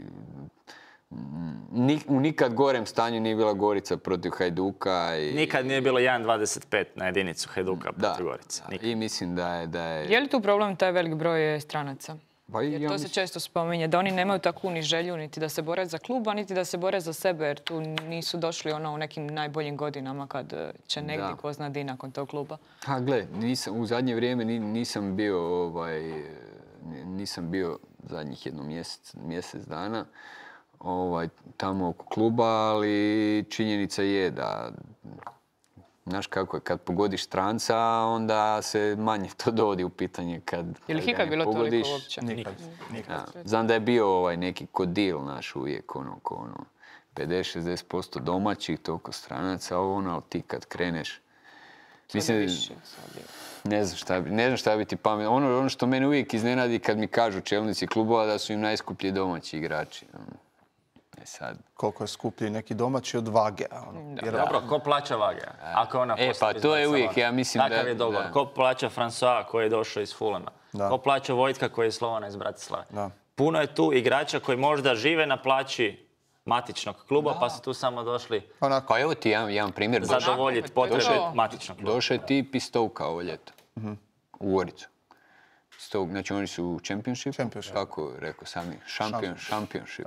u nikad gorem stanju nije bila Gorica protiv Hajduka. Nikad nije bilo 1,25 na jedinicu Hajduka protiv Gorice. I mislim da je... Je li tu problem taj velik broj stranaca? Jer to se često spominje, da oni nemaju takvu ni želju niti da se bore za kluba, niti da se bore za sebe, jer tu nisu došli u nekim najboljim godinama kad će negdje ko zna di nakon tog kluba. Gle, u zadnje vrijeme nisam bio zadnjih jedno mjesec dana tamo oko kluba, ali činjenica je da znaš kako je, kad pogodiš stranca, onda se manje to dovodi u pitanje kad je li ikad bilo toliko uopće? Nikad. Znam da je bio neki kodil naš uvijek, 50-60% domaćih, toliko stranaca, ali ti kad kreneš Mislim, ne znam šta bi ti pametno. Ono što mene uvijek iznenadi kad mi kažu čelnici klubova da su im najskuplji domaći igrači. Sad. Koliko je skuplji neki domaći od Vage. Dobro, ko plaća Vage? Ako ona pa to je uvijek, ja mislim da... Takav je dogovor. Ko plaća François koji je došao iz Fulama? Ko plaća Vojtka koji je Slovana iz Bratislave? Puno je tu igrača koji možda žive na plaći matičnog kluba, pa su tu samo došli... Pa evo ti jedan primjer. Zadovoljiti potrebe matičnog kluba. Došao je tip iz Stoke ovo ljeto. U Goricu. Znači oni su u Championship. Kako rekao sami? Championship.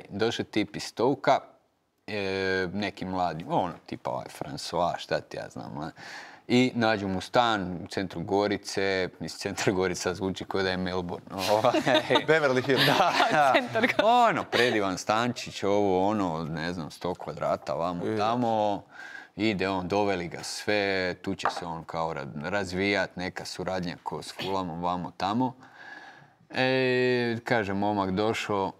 Došao tip iz Stoke-a, neki mladi, tipa François, šta ti ja znam. I nađu mu stan u centru Gorice, centar Gorica zvuči kao da je Melbourne. Beverly Hills. Da, predivan stančić, ne znam, 100 kvadrata, vamo tamo. Ide doveli ga sve, tu će se on kao razvijat, neka suradnja ko s Fulamom, vamo tamo. Kaže, momak došao,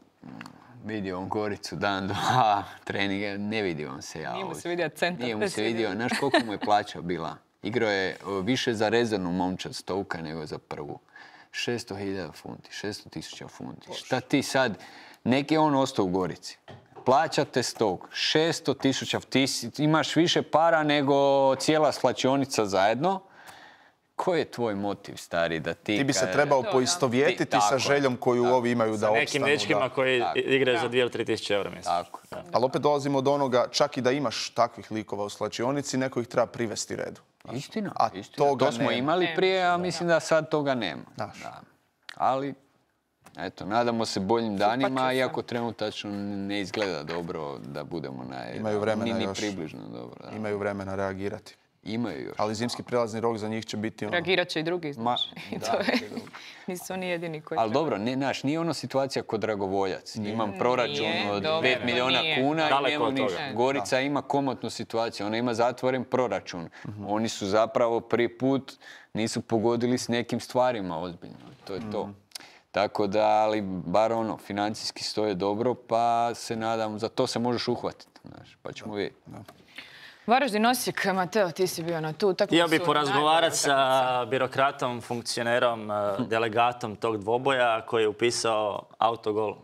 vidio on Goricu dan, dva, treninga, ne vidio on se ja. Nije mu se vidio centar. Nije mu se vidio, znaš koliko mu je plaća bila? Igrao je više za rezervnu momčad Stoke nego za prvu. 600.000 funti, 600.000 funti. Šta ti sad, neki on ostao u Gorici. Plaćate Stoke, 600.000, ti imaš više para nego cijela slačionica zajedno. Koji je tvoj motiv, stari, da ti... Ti bi se trebao poistovjetiti sa željom koju ovi imaju da opstanu. Sa nekim dečkima koji igraju za 2 ili 3 tisuće eura mjesečno. Ali opet dolazimo od onoga, čak i da imaš takvih likova u slačionici, neko ih treba privesti redu. Istina. To smo imali prije, a mislim da sad toga nema. Ali, eto, nadamo se boljim danima, iako trenutačno ne izgleda dobro da budemo ni približno dobro. Imaju vremena reagirati. Imaju još. Ali zimski prelazni rok za njih će biti... Reagirat će i drugi, znaš. Nisu oni jedini koji... Ali dobro, nije ono situacija kod Dragovoljac. Imam proračun od 5 milijuna kuna i njemu ništa. Gorica ima komotnu situaciju, ona ima zatvoren proračun. Oni su zapravo prvi put nisu pogodili s nekim stvarima ozbiljno. To je to. Tako da, ali bar financijski stoje dobro, pa se nadam, za to se možeš uhvatiti, pa ćemo vidjeti. Varaždin, Osijek, Mateo, ti si bio na tu utakmicu. Htio bih porazgovarati sa birokratom, funkcionerom, delegatom tog dvoboja koji je upisao autogol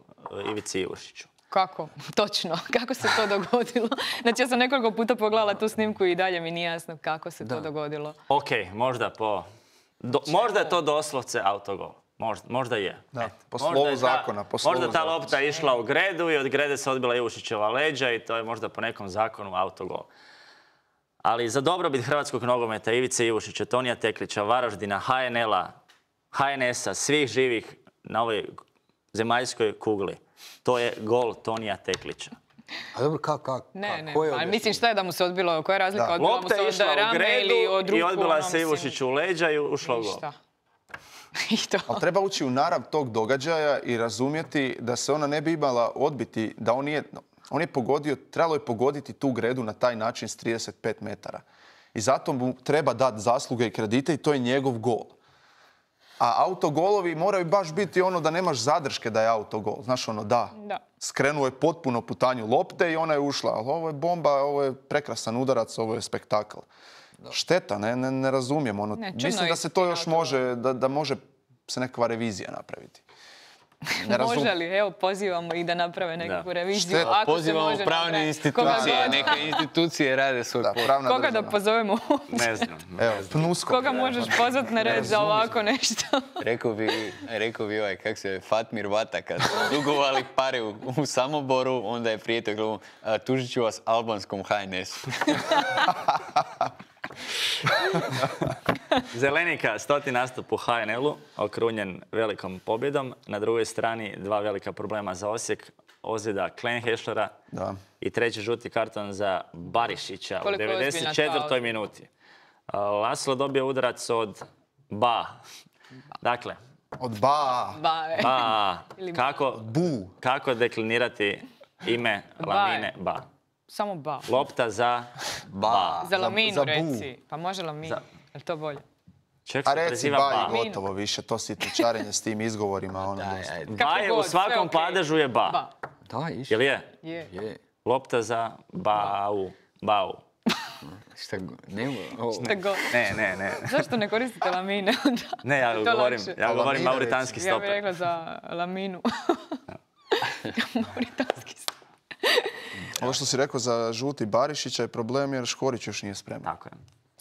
Ivici Ivušiću. Kako? Točno. Kako se to dogodilo? Znači, ja sam nekoliko puta pogledala tu snimku i dalje mi nije jasno kako se to dogodilo. Okej, možda možda je to doslovce autogol. Možda je. Po slovu zakona. Možda ta lopta je išla u gredu i od grede se odbila Ivušićeva leđa i to je možda po nekom zakonu autogol. Ali za dobrobit hrvatskog nogometa, Ivice Ivušića, Tonija Teklića, Varaždina, HNL-a, HNS-a, svih živih na ovoj zemaljskoj kugli, to je gol Tonija Teklića. A dobro, kako? Ne, mislim šta je da mu se odbilo, koja je razlika? Lopta je išla u gredu i odbila se Ivušiću u leđa i ušla u gol. Ali treba ući u narav tog događaja i razumjeti da se ona ne bi imala odbiti, da on je pogodio, trebalo je pogoditi tu gredu na taj način s 35 metara. I zato mu treba dati zasluge i kredite i to je njegov gol. A autogolovi moraju baš biti da nemaš zadrške da je autogol. Znaš skrenuo je potpuno putanju lopte i ona je ušla. Ali ovo je bomba, ovo je prekrasan udarac, ovo je spektakl. Šteta, ne razumijem. Mislim da se to još može, da može se nekakva revizija napraviti. Može li? Evo, pozivamo ih da naprave nekakvu reviziju. Pozivamo pravne institucije. Neke institucije rade svoj posao. Koga da pozovemo? Ne znam. Koga možeš pozvati na red za ovako nešto? Rekao bi Fatmir Vata, kad su dugovali pare u Samoboru, onda je prijatelj gledao, tužit ću vas albanskom HNS-u. Zelenika, 100. nastup u HNL-u, okrunjen velikom pobjedom. Na drugoj strani 2 velika problema za Osijek. Ozljeda Klenhešlera i 3. žuti karton za Barišića u 94. minuti. Laslo dobio udarac od Ba. Dakle, od Ba. Kako deklinirati ime Lamine Ba? Samo Ba. Lopta za Ba. Za Laminu, reci. Pa može Laminu. Je li to bolje? A reci Ba i gotovo više. To si tučarenje s tim izgovorima. Ba je u svakom padežu je Ba. Da, Jel je? Je. Lopta za Bau. Ne. Zašto ne koristite lamine onda? Ne, ja govorim mauritanski stoper. Ja bih rekla za laminu. Mauritanski stoper. Ovo što si rekao za žuti Barišića je problem jer Škorić još nije spreman. Tako je.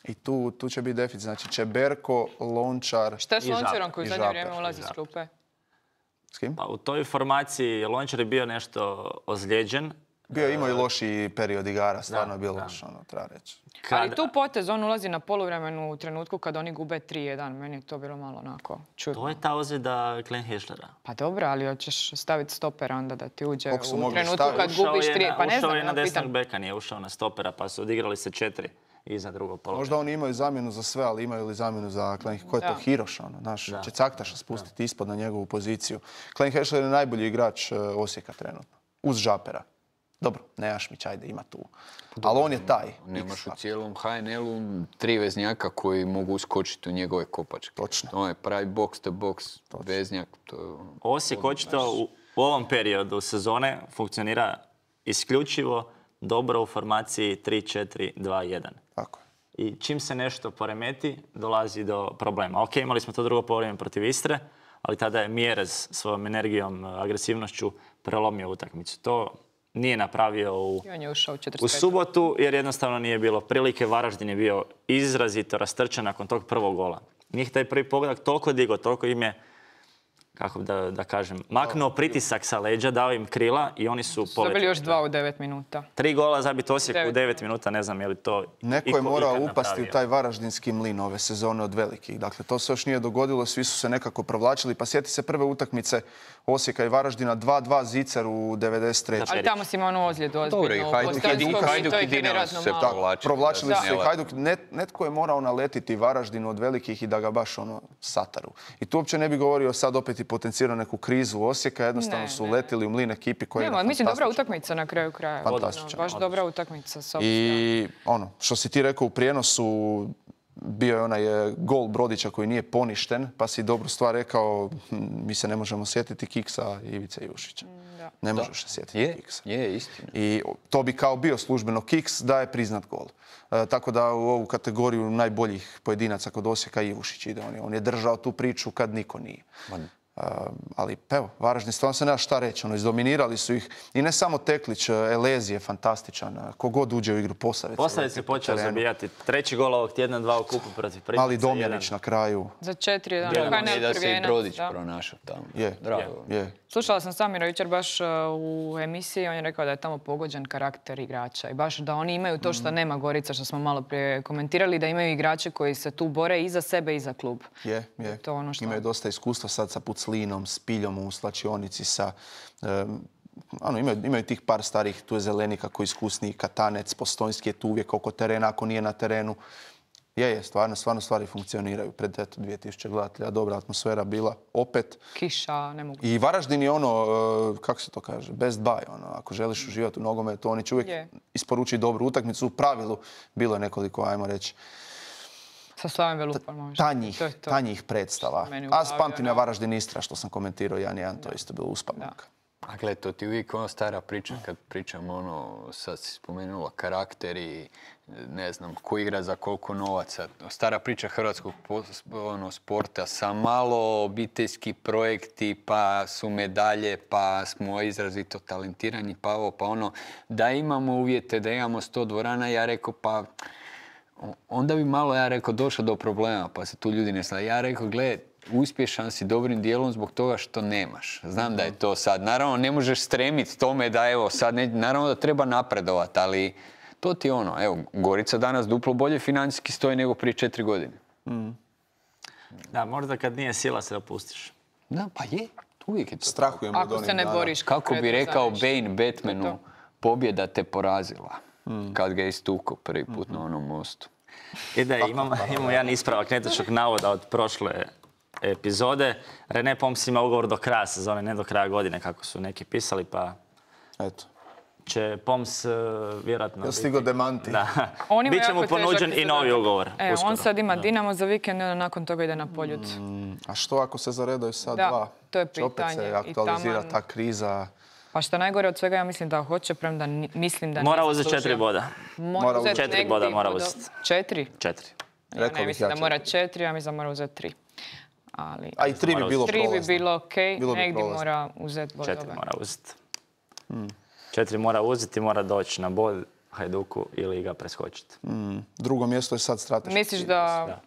I tu će biti deficit. Znači Čeberko, Lončar Šta je s Lončarom koji u zadnje vrijeme ulazi s klupe? S kim? Pa u toj formaciji Lončar je bio nešto ozlijeđen. Imao i loši period igara, stvarno je bilo loš, treba reći. Ali tu potez, on ulazi na poluvremenu u trenutku kad oni gube 3-1. Meni je to bilo malo onako čudno. To je ta ozljeda Glenn Heslera. Pa dobro, ali hoćeš staviti stopera onda da ti uđe u trenutku kad gubiš 3. Pa ne znam, ušao je na desnog beka, nije ušao na stopera, pa su odigrali se 4 iza drugog polovremena. Možda oni imaju zamjenu za sve, ali imaju li zamjenu za Glenn? Ko je to Hiroš? Će Caktaša spustiti ispod na njegovu poziciju. Glenn Hesler je najbolji igrač Osijeka trenutno. Uz Žapera. Dobro, Nejašmić, ajde, ima tu. Ali on je taj. Nemaš u cijelom HNL-u 3 veznjaka koji mogu uskočiti u njegove kopačke. Točno. On je pravi box to box veznjak. Osijek očito u ovom periodu sezone funkcionira isključivo dobro u formaciji 3-4-2-1. Tako je. I čim se nešto poremeti, dolazi do problema. Ok, imali smo to drugo poluvreme protiv Istre, ali tada je Mjerez svojom energijom, agresivnošću prelomio utakmicu. To nije napravio u subotu jer jednostavno nije bilo prilike. Varaždin je bio izrazito rastrčan nakon tog prvog gola. Njih taj prvi pogodak toliko digo, toliko im je, kako da kažem, maknuo pritisak sa leđa, dao im krila i oni su poletili. Dobili još 2 u 9 minuta. 3 gola zabiti Osijek u 9 minuta, ne znam je li to neko je morao upasti u taj varaždinski mlin ove sezone od velikih. Dakle, to se još nije dogodilo, svi su se nekako provlačili. Pa sjeti se prve utakmice Osijeka i Varaždina, 2-2 Zicer u 93. Ali tamo si imao onu ozljedu ozbiljno. Hajduk i Dinamo se provlačili su i Hajduk. Netko je morao naletiti Varaždinu od velikih i da ga baš sataru. I tu uopće ne bi govorio sad opet i potencirao neku krizu Osijeka, jednostavno su letili u mlin ekipi koji je fantastičan. Mislim, dobra utakmica na kraju kraja. Fantastičan. Baš dobra utakmica. I što si ti rekao u prijenosu, bio je onaj gol Brodića koji nije poništen, pa si dobru stvar rekao, mi se ne možemo sjetiti Kiksa Ivice Jušića. Ne možeš se sjetiti Kiksa. Je, istina. I to bi kao bio službeno Kiks da je priznat gol. Tako da u ovu kategoriju najboljih pojedinaca kod Osijeka Ivušić ide. On je držao tu priču kad niko nije. Ali evo, Varaždin stvarno se nema šta reći. Izdominirali su ih i ne samo Teklić, Elezi je fantastičan. Kogod uđe u igru Posavec. Posavec je počeo zabijati. 3. gol ovog tjedna, 2 u kupu protiv Primorca. Ali Domjanić na kraju. Za 4-1. I da se i Brodić pronašao tamo. Je. Slušala sam Samira jučer baš u emisiji, on je rekao da je tamo pogođen karakter igrača i baš da oni imaju to što nema Gorica, što smo malo prije komentirali, da imaju igrače koji se tu bore i za sebe i za klub. Imaju dosta iskustva sad sa Puclinom, s Piljom u slačionici, imaju tih par starih, tu je Zelenika koji je iskusniji, Katanec, Postojnski je tu uvijek oko terena, ako nije na terenu. Stvarno stvari funkcioniraju. Pred 2000 gledatelja, dobra atmosfera bila. Opet. Kiša, ne mogu. I Varaždin je kako se to kaže, best buy. Ako želiš uživati u nogometu, oni će uvijek isporučiti dobru utakmicu. U pravilu bilo je nekoliko, ajmo reći, sa Slaven Velupom. Tanjih predstava. A spamtim ja Varaždin Istra, što sam komentirao 1-1, to je isto bilo uspavljaka. A gledaj, to ti uvijek stara priča kad pričam sad si spomenula karakter i ne znam, ko igra za koliko novaca. Stara priča hrvatskog sporta sa malo obiteljski projekti, pa su medalje, pa smo izrazito talentirani, pa ovo, pa ono. Da imamo uvjete, da imamo 100 dvorana, ja rekao, pa onda bi malo, ja rekao, došlo do problema, pa se tu ljudi ne slažu. Ja rekao, gledaj, uspješan si dobrim dijelom zbog toga što nemaš. Znam da je to sad. Naravno, ne možeš stremiti tome da evo sad, naravno da treba napredovati, ali to ti je evo, Gorica danas duplo bolje financijski stoji nego prije 4 godine. Da, možda kad nije sila se opustiš. Da, pa je. Uvijek je to. Strahujemo ako se ne boriš. Kako bi rekao Bane Batmanu, pobjeda te porazila. Kad ga je istukao prvi put na onom mostu. Imamo jedan ispravak netočnog navoda od prošle epizode. René Poms ima ugovor do kraja sezone, ne do kraja godine, kako su neki pisali, pa će Poms vjerojatno... Ja stigo demanti. Biće mu ponuđen i novi ugovor. On sad ima Dinamo za vikend, nakon toga ide na Poljud. A što ako se zaredaju sad dva? To je pitanje. Opet se aktualizira ta kriza. Pa što najgore od svega, ja mislim da hoće, premda mislim da mora uzeti 4 boda. Mora uzeti 4 boda mora uzeti. 4? 4. Ja ne mislim da mora 4, ja mislim da mora uzeti 3. Ali, a i 3 bi bilo prolazno. 3 bi bilo okej, negdje mora uzeti bodove. 4 mora uzeti. 4 mora uzeti i mora doći na bod Hajduku ili ga preskočiti. Drugo mjesto je sad strateško. Misliš da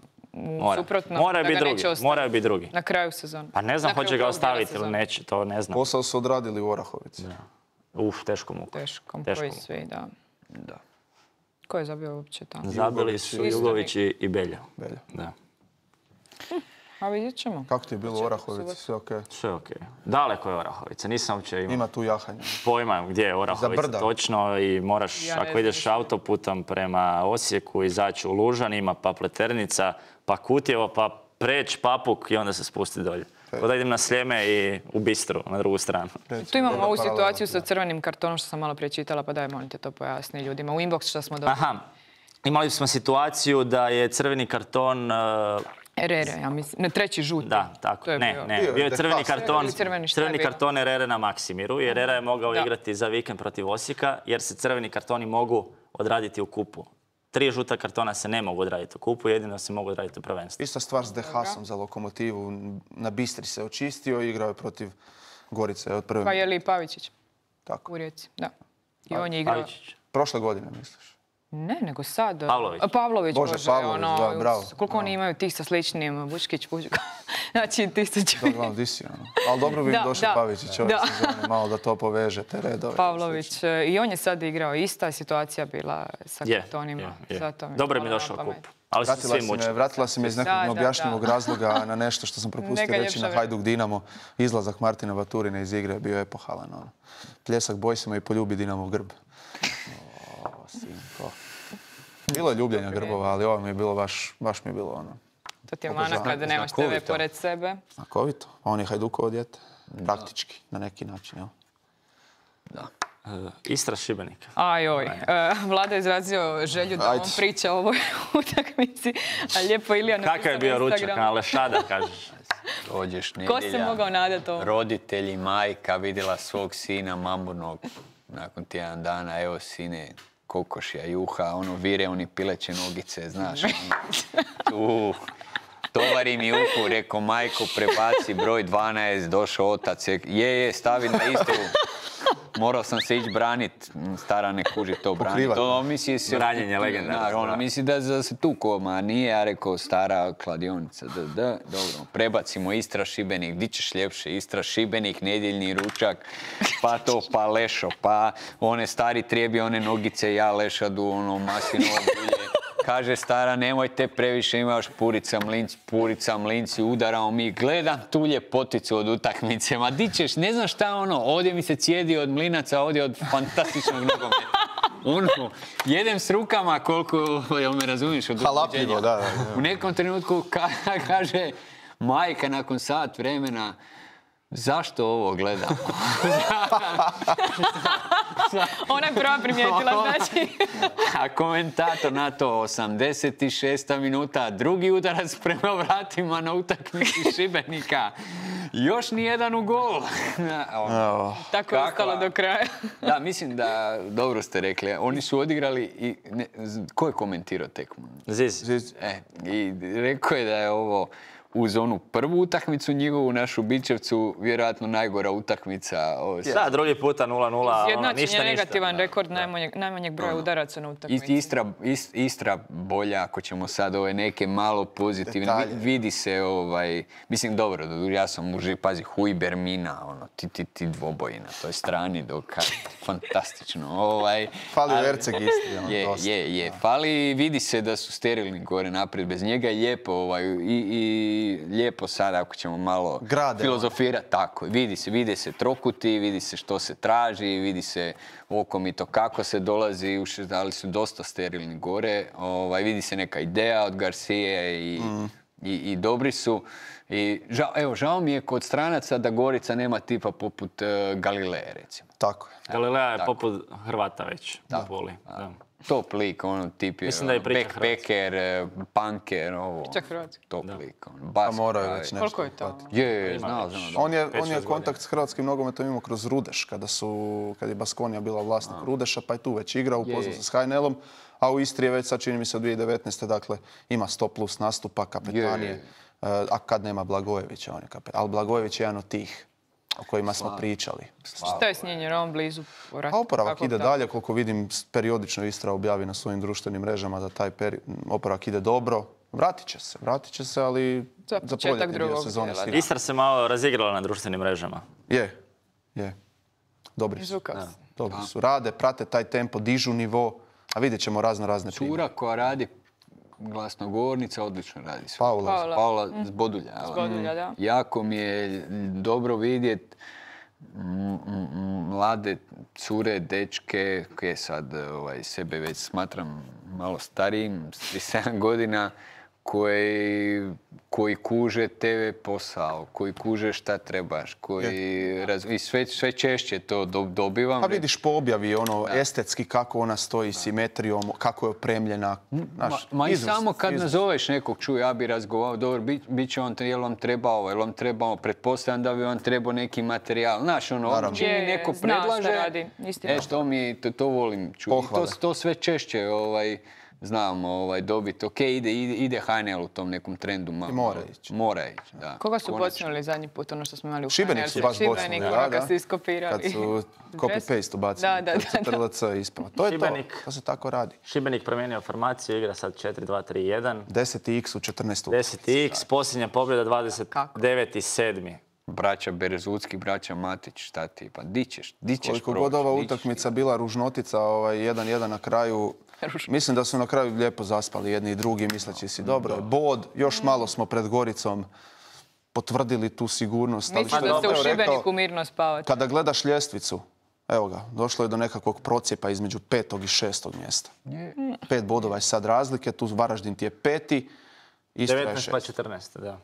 suprotno mora da ga neće ostaviti? Moraju biti drugi. Na kraju sezona. Pa ne znam hoće ga ostaviti ili neće, to ne znam. Posao su odradili u Orahovici. Teško muka. Teško, koji svi, da. Ko je zabio uopće tamo? Zabili su Jugović i Belja. Da. A vidjet ćemo. Kako ti je bilo u Orahovici? Sve okej? Sve okej. Daleko je Orahovica, nisam uopće Ima tu jahanja. Pojma gdje je Orahovica točno i moraš, ako ideš autoputom prema Osijeku, izaći u Lužanima, pa Pleternica, pa Kutjevo, pa preć Papuk i onda se spusti dolje. Da idem na Sljeme i u Bistru, na drugu stranu. Tu imamo ovu situaciju sa crvenim kartonom što sam malo prije čitala, pa daj, molim te to pojasni ljudima. U inbox što smo dobili. Aha, imali smo situaciju da je crveni karton... Herrera, ja mislim. Ne, treći žuti. Da, tako. Ne. Bio je crveni karton Herrera na Maksimiru. Herrera je mogao igrati za vikend protiv Osijeka, jer se crveni kartoni mogu odraditi u kupu. 3 žuta kartona se ne mogu odraditi u kupu, jedino se mogu odraditi u prvenstvu. Ista stvar s Dehasom za Lokomotivu. Na Bistri se očistio i igrao je protiv Gorice od prve. Pa je li Pavičić? Tako. U Rijeci, da. I on je igrao... Pavičić. Prošle godine, misliš? Ne, nego sad. Pavlović. Bože, da, bravo. Koliko oni imaju tih sa sličnim Vučkić, Pužka. Znači, 1000. Da, gledam, di si, ali dobro bi došao Pavičić ove sezone, malo da to poveže, te redove. Pavlović, i on je sad igrao, ista je situacija bila sa kartonima. Dobro mi je došao kup. Ali su svi mučili. Vratila si me iz nekog neobjašnjivog razloga na nešto što sam propustio reći na Hajduk Dinamo. Izlazak Martina Baturina iz igre bio epohalan. Pljesak Bojsima i poljubi Dinamo grb. Sinko. Bilo je ljubljenja grbova, ali ovo mi je bilo baš mi je bilo ono. To ti je mana kada nemaš tebe pored sebe. Znakovito. On je Hajdukovo dijete. Praktički, na neki način, jel? Da. Istra Šibenik. Vlada je izrazio želju da on priča o ovoj utakmici, a lijepo Ilija napisao na Instagramu. Kakav je bio ručak na Lešada, kažeš? Dođeš nedjelja. Ko se mogao nadati ovo? Roditelji, majka vidjela svog sina mamurnog nakon tjedan dana. Evo sine, kokošija, juha, vire, oni pileće nogice, znaš. Tovari mi uhu, rekao majko, prebaci broj 12, došao otac, stavi na Istru. Morao sam se ići branit, stara ne kuži to branit. Branjenje legendarno. Misli da se tu koma, nije, ja rekao stara kladionica. Dobro, prebacimo Istra Šibenik, di ćeš ljepše, Istra Šibenik, nedjeljni ručak, pa to, pa lešo, pa one stari trijebi, one nogice, ja lešadu, maslinovo bulje. Kaže stara, nemojte previše, imaš purica mlinci, udarao mi, gledam tu ljepoticu od utakmice, ma di ćeš, ne znam šta ovdje mi se cijedi od mlinaca, ovdje od fantastičnog nogometa. Jedem s rukama koliko, jel me razumiješ, od halapljivo, da. U nekom trenutku kaže majka nakon sat vremena, zašto ovo gledam? Ona je prva primijetila, znači. A komentator na to 86. minuta, drugi udarac prema vratima na utakmici Šibenika. Još nijedan u gol. Tako je ostalo do kraja. Da, mislim da, dobro ste rekli, oni su odigrali i... Ko je komentirao tekmu? Ziz. I rekao je da je ovo... uz onu prvu utakmicu njihovu, našu Bičevcu, vjerojatno najgora utakmica. Da, drugi puta 0-0, Izjednačen je negativan rekord najmanjeg broja udaraca na utakmici. Istra bolja, ako ćemo sad ove neke malo pozitivne. Vidi se, mislim, dobro, ja sam pazi, Hujber, Mina, ti dvoboji na toj strani, fantastično. Fali Erceg isti. Je. Fali, vidi se da su sterilni gore naprijed, bez njega je lijepo i lijepo sada ako ćemo malo filozofirati. Tako, vidi se trokuti, vidi se što se traži, vidi se okomito kako se dolazi, ali su dosta sterilni gore. Vidi se neka ideja od Garcije i dobri su. I žao mi je kod stranaca da Gorica nema tipa poput Galileje, recimo. Tako je. Galilea je poput Hrvata već u Puli. top lik, ono tip je backpacker, punker, ovo. Čak hrvatski. Top lik, ono. Pa moraju već nešto. Koliko je to? Je, znao. On je kontakt s hrvatskim nogometom imao kroz Rudeš, kad je Baskonija bila vlasnik Rudeša, pa je tu već igrao, upoznao se s HNL-om, a u Istri je već sad čini mi se od 2019. Dakle, ima 100+ nastupa, kapetanije, a kad nema Blagojevića, on je kapetan. Ali Blagojević je jedan od tih o kojima smo pričali. Šta je s njim, jer on blizu A oporavak ide dalje, koliko vidim, periodično Istra objavi na svojim društvenim mrežama da taj oporavak ide dobro. Vratit će se, ali za proljetni dio sezone sigurno. Istra se malo razigrala na društvenim mrežama. Je. Dobri su. Rade, prate taj tempo, dižu nivo, a vidjet ćemo razne primjere. Cura koja radi glasnogovornica, odlično radi. Paula Zbodulja. Da. Jako mi je dobro vidjeti mlade cure, dečke, koje sad sebe već smatram malo starijim, 37 godina, koji kuže TV posao, koji kuže šta trebaš, i sve češće to dobivam. A vidiš po objavi estetski kako ona stoji, simetrijom, kako je opremljena. I samo kad nazoveš nekog, čuj, ja bi razgovarao, dobro, bit će on, jel vam treba ovo, jel vam treba ovo, pretpostavljam da bi vam trebao neki materijal. Znaš, čim mi neko predlaže, to volim čuti. To sve češće znam dobiti. Ok, ide HNL u tom nekom trendu. Mora ići, da. Koga su počnuli zadnji put, ono što smo imali u HNL? Šibenik su baš počnuli, kad su iskopirali. Kad su copy-paste ubacili. Kad su TLC ispala. To je to se tako radi. Šibenik promijenio formaciju, igra sad 4-2-3-1. 10x u 14. 10x, posljednja pobjeda 29.7. Braća Berezutski, braća Matić, šta ti? Pa di ćeš koliko god ova utakmica bila ružnotica, 1-1 na kraju. Mislim da su na kraju lijepo zaspali jedni i drugi, misleći si dobro je bod. Još malo smo pred Goricom potvrdili tu sigurnost. Mislim da ste u Šibeniku mirno spavati. Kada gledaš ljestvicu, evo ga, došlo je do nekakvog procjepa između 5. i 6. mjesta. 5 bodova je sad razlike, tu Varaždin ti je 5. 19 pa 14, da.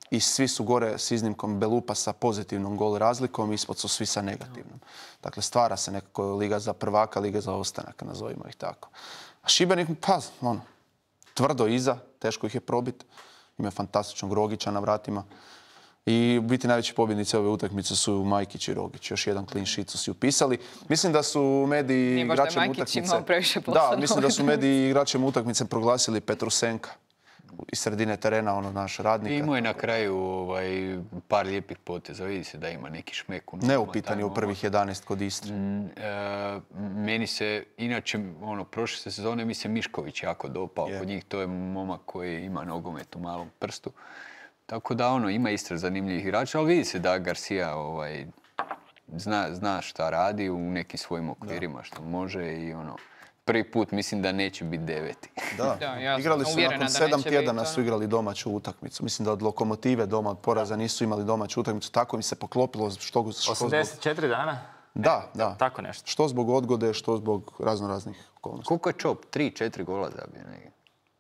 I svi su gore s iznimkom Belupa sa pozitivnom gol razlikom, ispod su svi sa negativnom. Dakle, stvara se nekako liga za prvaka, liga za ostanak, nazovimo ih tako. A Šibenik, tvrdo iza, teško ih je probiti. Ima fantastičnog Rogića na vratima. I u biti najveći pobjednici ove utakmice su Majkić i Rogić. Još jedan clean sheet su si upisali. Mislim da su mediji igračem utakmice... mislim da su mediji igračem utakmice proglasili Petrusenka iz sredine terena, naš radnika. Imao je na kraju par lijepih poteza. Vidi se da ima neki šmek. Neupitan je u prvih 11 kod Istre. Meni se, inače, prošle sezone mi se Mišković jako dopao. Kod njih to je momak koji ima nogomet u malom prstu. Tako da, ima Istra zanimljivih igrača, ali vidi se da Garcia zna šta radi u nekim svojim okvirima, što može i prvi put mislim da neće biti 9. Da, igrali su nakon 7 tjedana su igrali domaću utakmicu. Mislim da od Lokomotive doma, od poraza nisu imali domaću utakmicu. Tako mi se poklopilo. 84 dana? Da. Tako nešto. Što zbog odgode, što zbog raznoraznih okolnosti. Koliko je Čop? 3-4 gola zabio negdje?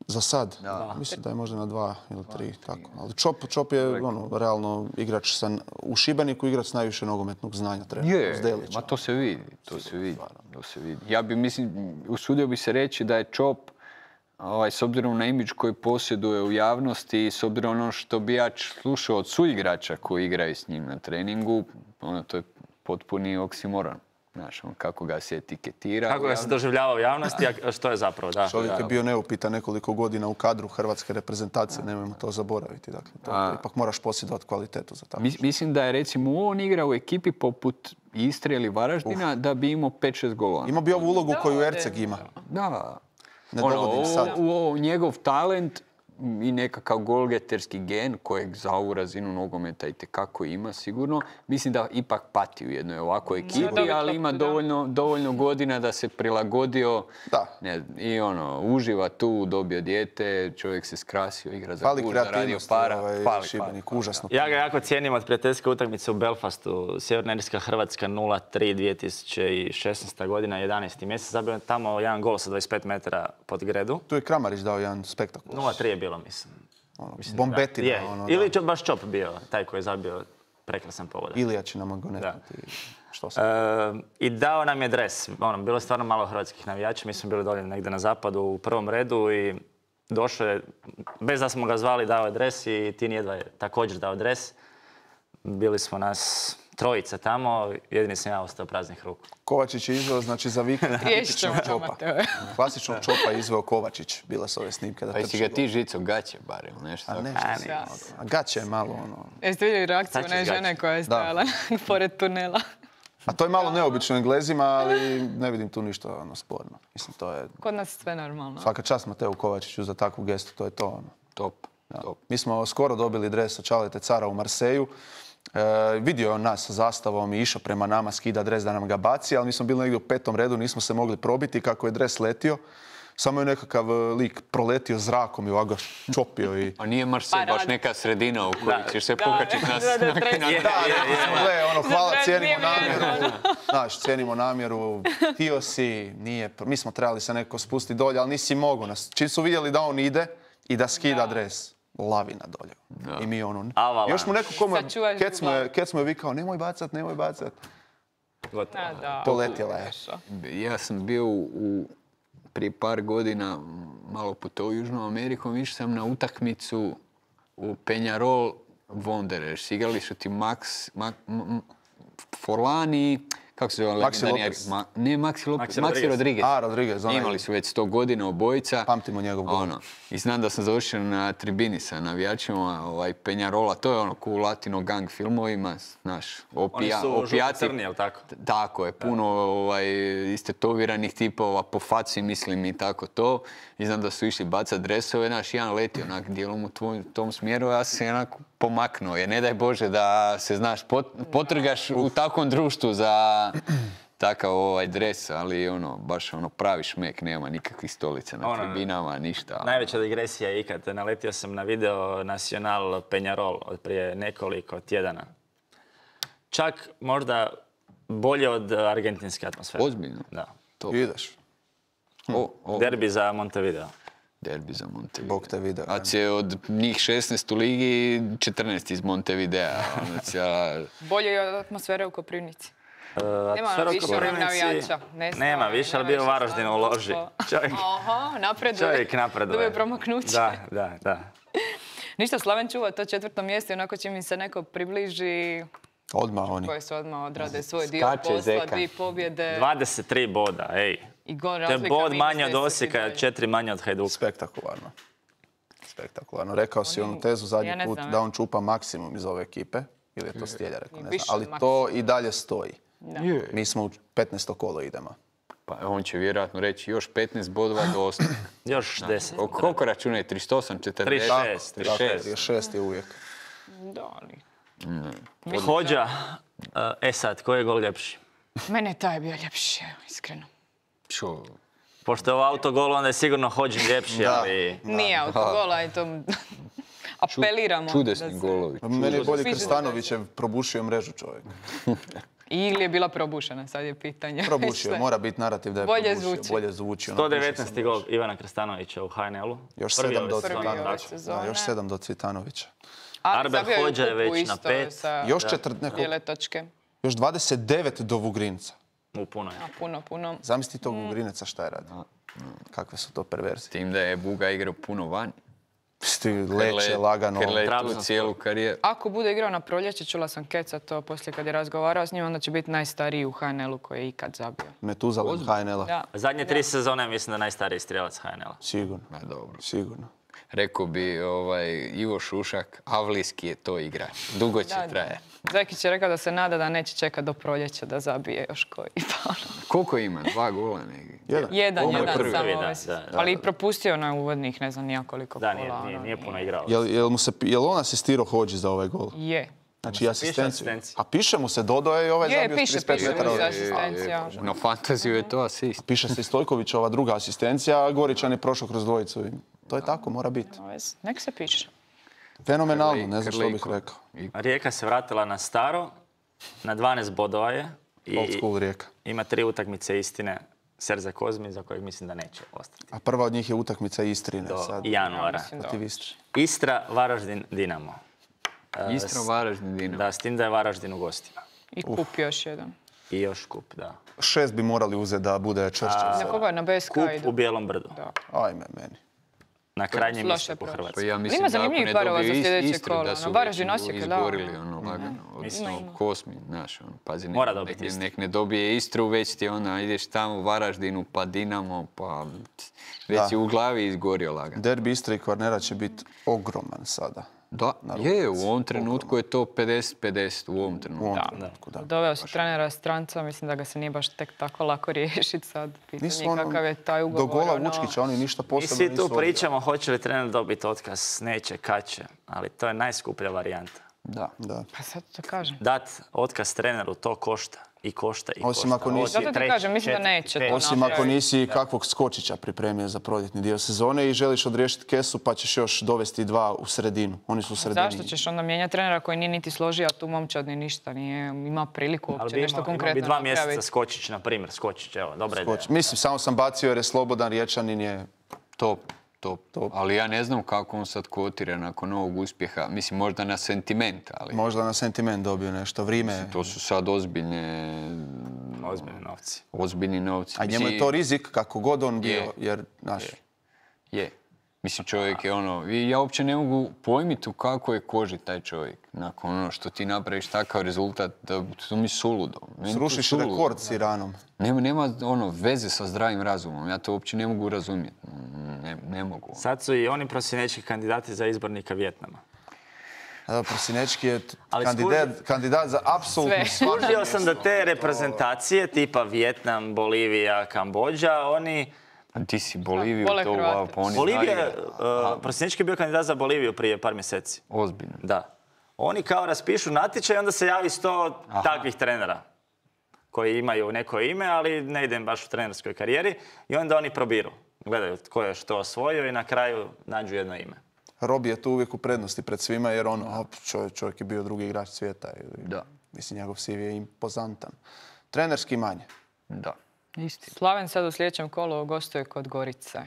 Za sad? Mislim da je možda na 2 ili 3. Tako. Ali Čop je realno igrač u Šibeniku, igrač najviše nogometnog znanja treba. Ma to se vidi. Ja bi, usudio bi se reći da je Čop, s obzirom na imidž koji posjeduje u javnosti i s obzirom na ono što bi ja slušao od suigrača koji igraju s njim na treningu, to je potpuni oksimoron. Znaš, kako ga se etiketira. Kako ga se doživljava u javnosti, a što je zapravo? Čovjek je bio neupitan nekoliko godina u kadru hrvatske reprezentacije, nemojmo to zaboraviti. Dakle, ipak moraš posjedovati kvalitetu za tako. Mislim da je recimo on igra u ekipi poput Istre ili Varaždina da bi imao 5-6 golova. Imao bi ovu ulogu koju Erceg ima. Da. Ne dovodim sad. Njegov talent i nekakav golgeterski gen kojeg za ovu razinu nogometa itekako ima sigurno. Mislim da ipak pati u jednoj ovakvoj ekipi, ali ima dovoljno godina da se prilagodio i uživa tu, dobio dijete, čovjek se skrasio, igra za klub, zaradio para. Šibenik, užasno. Ja ga jako cijenim od prijateljske utakmice u Belfastu. Sjeverna Irska Hrvatska 0-3 2016. godina, 11. mjesec. Zabio tamo jedan gol sa 25 metara pod gredu. Tu je Kramarić dao jedan spektakl. 0-3 je bilo, mislim. Bombetina. Ili baš Čop bio taj koji je zabio prekrasan pogodak. Ilija će nam go netati. Što sam? I dao nam je dres. Bilo je stvarno malo hrvatskih navijača. Mi smo bili dolje negdje na zapadu u prvom redu i došao je, bez da smo ga zvali, dao je dres i Tin jedva je također dao dres. Bili smo nas trojica tamo, jedini sam ja ostao praznih ruku. Kovačić je izveo, znači za vikend tipičnog čopa. Klasičnog čopa je izveo Kovačić. Bile su ove snimke da trči. Pa si ga ti žico gaće barem, nešto? A nešto. A gaće je malo ono... Jeste vidjeli reakciju one žene koja je stajala pored tunela? A to je malo neobično Englezima, ali ne vidim tu ništa sporno. Mislim, to je... Kod nas sve normalno. Svaka čast Mateu Kovačiću za takvu gestu, to je to. Top. Mi smo skoro dobili dres od Čalete Cara u Marseju. Vidio je on nas sa zastavom i išao prema nama, skida dres da nam ga baci, ali mi smo bili negdje u 5. redu, nismo se mogli probiti. Kako je dres letio, samo je nekakav lik proletio zrakom i ovako ga čopio. A nije Marsej baš neka sredina u kojoj ćeš se pokačiti nas. Hvala, cijenimo namjeru. Znaš, cijenimo namjeru. Htio si, nije... Mi smo trebali se neko spustiti dolje, ali nisi mogao nas. Čim su vidjeli da on ide i da skida dres, lavina dolje. I mi ono... Još mu neko Kec mu je vikao, nemoj bacat, nemoj bacat. Poletjela je. Ja sam bio prije par godina malo putovao Južnom Amerikom, išao sam na utakmicu u Peñarol Wanderers. Igrali su ti Forlani, kako se zove? Maxi Lopez. Ne, Maxi Rodriguez. Rodriguez. Imali su već 100 godina obojica. Pamtimo njegov gol. I znam da sam završio na tribini sa navijačima Peñarola. To je ko u latino gang filmovima. Znaš, Oni su žuto-crni, jel tako? Tako je, puno istetoviranih tipova po faci, mislim, i tako to. I znam da su išli bacat dresove. Znaš, jedan leti onak dijelom u tom smjeru. Ja sam se onako pomaknuo. Jer ne daj Bože da se, znaš, potrgaš u takvom društvu za takav dres, ali baš pravi šmek, nema nikakvih stolica na tribinama, ništa. Najveća digresija je ikad. Naletio sam na video Nacional Peñarol od prije nekoliko tjedana. Čak možda bolje od argentinske atmosfere. Ozbiljno? Da. Ideš. Derbi za Montevideo. Derbi za Montevideo. Bog te video. A će od njih 16 u ligi, 14 iz Montevidea. Bolje je od atmosfere u Koprivnici. Nema više navijača. Nema više, ali bio u Varaždinu u loži. Čovjek napreduje. Dobio promaknuće. Da. Ništa, Slaven čuva to 4. mjesto i onako će mi se neko približi... Odmah oni. Koji su odmah odrade svoj dio posla, 2 pobjede. 23 boda, ej. To je bod manje od Osijeka, 4 manje od Hajduka. Spektakularno. Rekao si onu tezu zadnji put da on čupa maksimum iz ove ekipe. Ili je to Stjelja rekao, ne znam. Ali to i dalje stoji. Mi smo u 15. kolo idemo. Pa on će vjerojatno reći još 15 bodova do osnovne. Još 10. Koliko računa je? 38, 40? 36 je uvijek. Da, ali... Hođa, sad, koji je gol ljepši? Mene je taj bio ljepši, iskreno. Čo? Pošto je ovo autogol, onda je sigurno Hođin ljepši, ali... Nije autogola, i to... Apeliramo. Čudesni golovi. Meni je bolje Krstanovićev probušio mrežu čovjek. Ili je bila probušena, sad je pitanje. Probušio, mora biti narativ da je probušio. Bolje zvuči. 119. gol Ivana Krstanovića u HNL-u. Još 7 do Cvitanovića. Još 7 do Cvitanovića. Arber Hođa je već na 5. Još 4 Još 29 do Vugrinca. Puno je. Puno. Zamisli tog Vugrineca šta je radio. Kakve su to perverzije. Tim da je Buga igrao puno vani. Leće, lagano. Tu cijelu karijeru. Ako bude igrao na proljeće, čula sam Keca to poslije kad je razgovarao s njim, onda će biti najstariji u HNL-u koji je ikad zabio. Metuzalem HNL-a. Zadnje 3 sezone mislim da najstariji strijelac HNL-a. Sigurno. Rekao bi Ivo Šušak, avlijski je to igrač. Dugo će traje. Zekić je rekao da se nada da neće čekati do proljeća da zabije još koji. Koliko ima? 2 gola negdje? Jedan samo. Ali i propustio na uvodnih, ne znam nijakoliko kola. Da, nije puno igrao. Je li on asistirao Hođi za ovaj gol? Je. Znači asistenciju. A piše mu se Dodo je i ovaj zabio s 35 metara. Na fantaziju je to asist. Piše se i Stojkovićova druga asistencija, a Goričan je prošao kroz dvojicu. To je tako, mora biti. Nek se piše. Fenomenalno, ne znam što bih rekao. Rijeka se vratila na staro, na 12 bodova je. Old school Rijeka. Ima 3 utakmice Istine, Serza Kozmi, za kojeg mislim da neće ostati. A prva od njih je utakmica Istrine. Do januara. Istra, Varaždin, Dinamo. Istra, Varaždin, Dinamo. Da, s tim da je Varaždin u gostima. I kup još jedan. I još kup, da. 6 bi morali uzeti da bude čvršće. Na koga? Na BSK Kup idu? u Bijelom brdu. Ajme meni. Na krajnjem istoku Hrvatske. Ja mislim Ima da ako zanimljivih ne parova za dobiju sljedeće Istru, kolo. da su Na Varaždin već Osijek, da. izgorili lagano. Odnosno Kosmi, znaš, pazi, Mora dobiti Istru. nek ne dobije Istru, već ti ideš tamo u Varaždinu, pa Dinamo, pa već si u glavi izgorio lagano. Derbi Istre i Kvarnera će biti ogroman sada. Da, je, u ovom trenutku je to 50-50, u ovom trenutku. Da. Doveo si trenera stranca, mislim da ga se nije baš tek tako lako riješiti sad. Pitanje kakav je taj ugovor. Do gola Vučkića oni ništa I posebno svi nisu tu pričamo hoće li trener dobiti otkaz, neće, kad će, ali to je najskuplja varijanta. Da. Pa sad to kažem. Dat otkaz treneru, to košta. I košta. Osim ako nisi- Zato ti kažem, mislim da neće to Osim ako napraviti. nisi kakvog skočića pripremio za proljetni dio sezone i želiš odriješiti kesu pa ćeš još dovesti 2 u sredinu. Oni su u sredini. Zašto ćeš onda mijenjati trenera koji nije niti složio, a tu momčad ni ništa nije, ima priliku Ali uopće bi nešto imao bi konkretno 2 mjeseca napraviti. Skočić, na primjer. Skočić, evo, dobra ideja. Mislim, samo sam bacio jer je slobodan, Riječanin je... Top. Ali ja ne znam kako on sad kotira nakon ovog uspjeha. Mislim, možda na sentiment, ali Možda na sentiment dobio nešto. Vrijeme... to su sad ozbiljni novci. A njemu je to rizik kako god on bio, jer, znaš... Je. Mislim, čovjek je ja uopće ne mogu pojmiti u kakvoj je koži taj čovjek. Nakon ono što ti napraviš takav rezultat, to mi je suludo. Srušiš rekord s Iranom. Nema veze sa zdravim razumom. Ja to uopće ne mogu razumjeti. Ne mogu. Sad su i oni prosinečki kandidati za izbornika Vjetnama. Prosinečki je Ali kandidat za apsolutno svako Skužio sam da mjesto. te reprezentacije tipa Vjetnam, Bolivija, Kambodža, oni... Ti si Boliviju, vole to Hrvate. pa oni Bolivija, znaju. Prosinečki je bio kandidat za Boliviju prije par mjeseci. Ozbiljno. Da. Oni kao raspišu natječaj i onda se javi 100 takvih trenera koji imaju neko ime, ali ne idem baš u trenerskoj karijeri i onda oni probiru. Gledaju tko je što osvojio i na kraju nađu jedno ime. Robi je tu uvijek u prednosti pred svima jer čovjek je bio drugi igrač svijeta. Da. Mislim, njegov CV je impozantan. Trenerski manje. Da. Isti. Slaven sad u sljedećem kolu gostuje kod Gorice.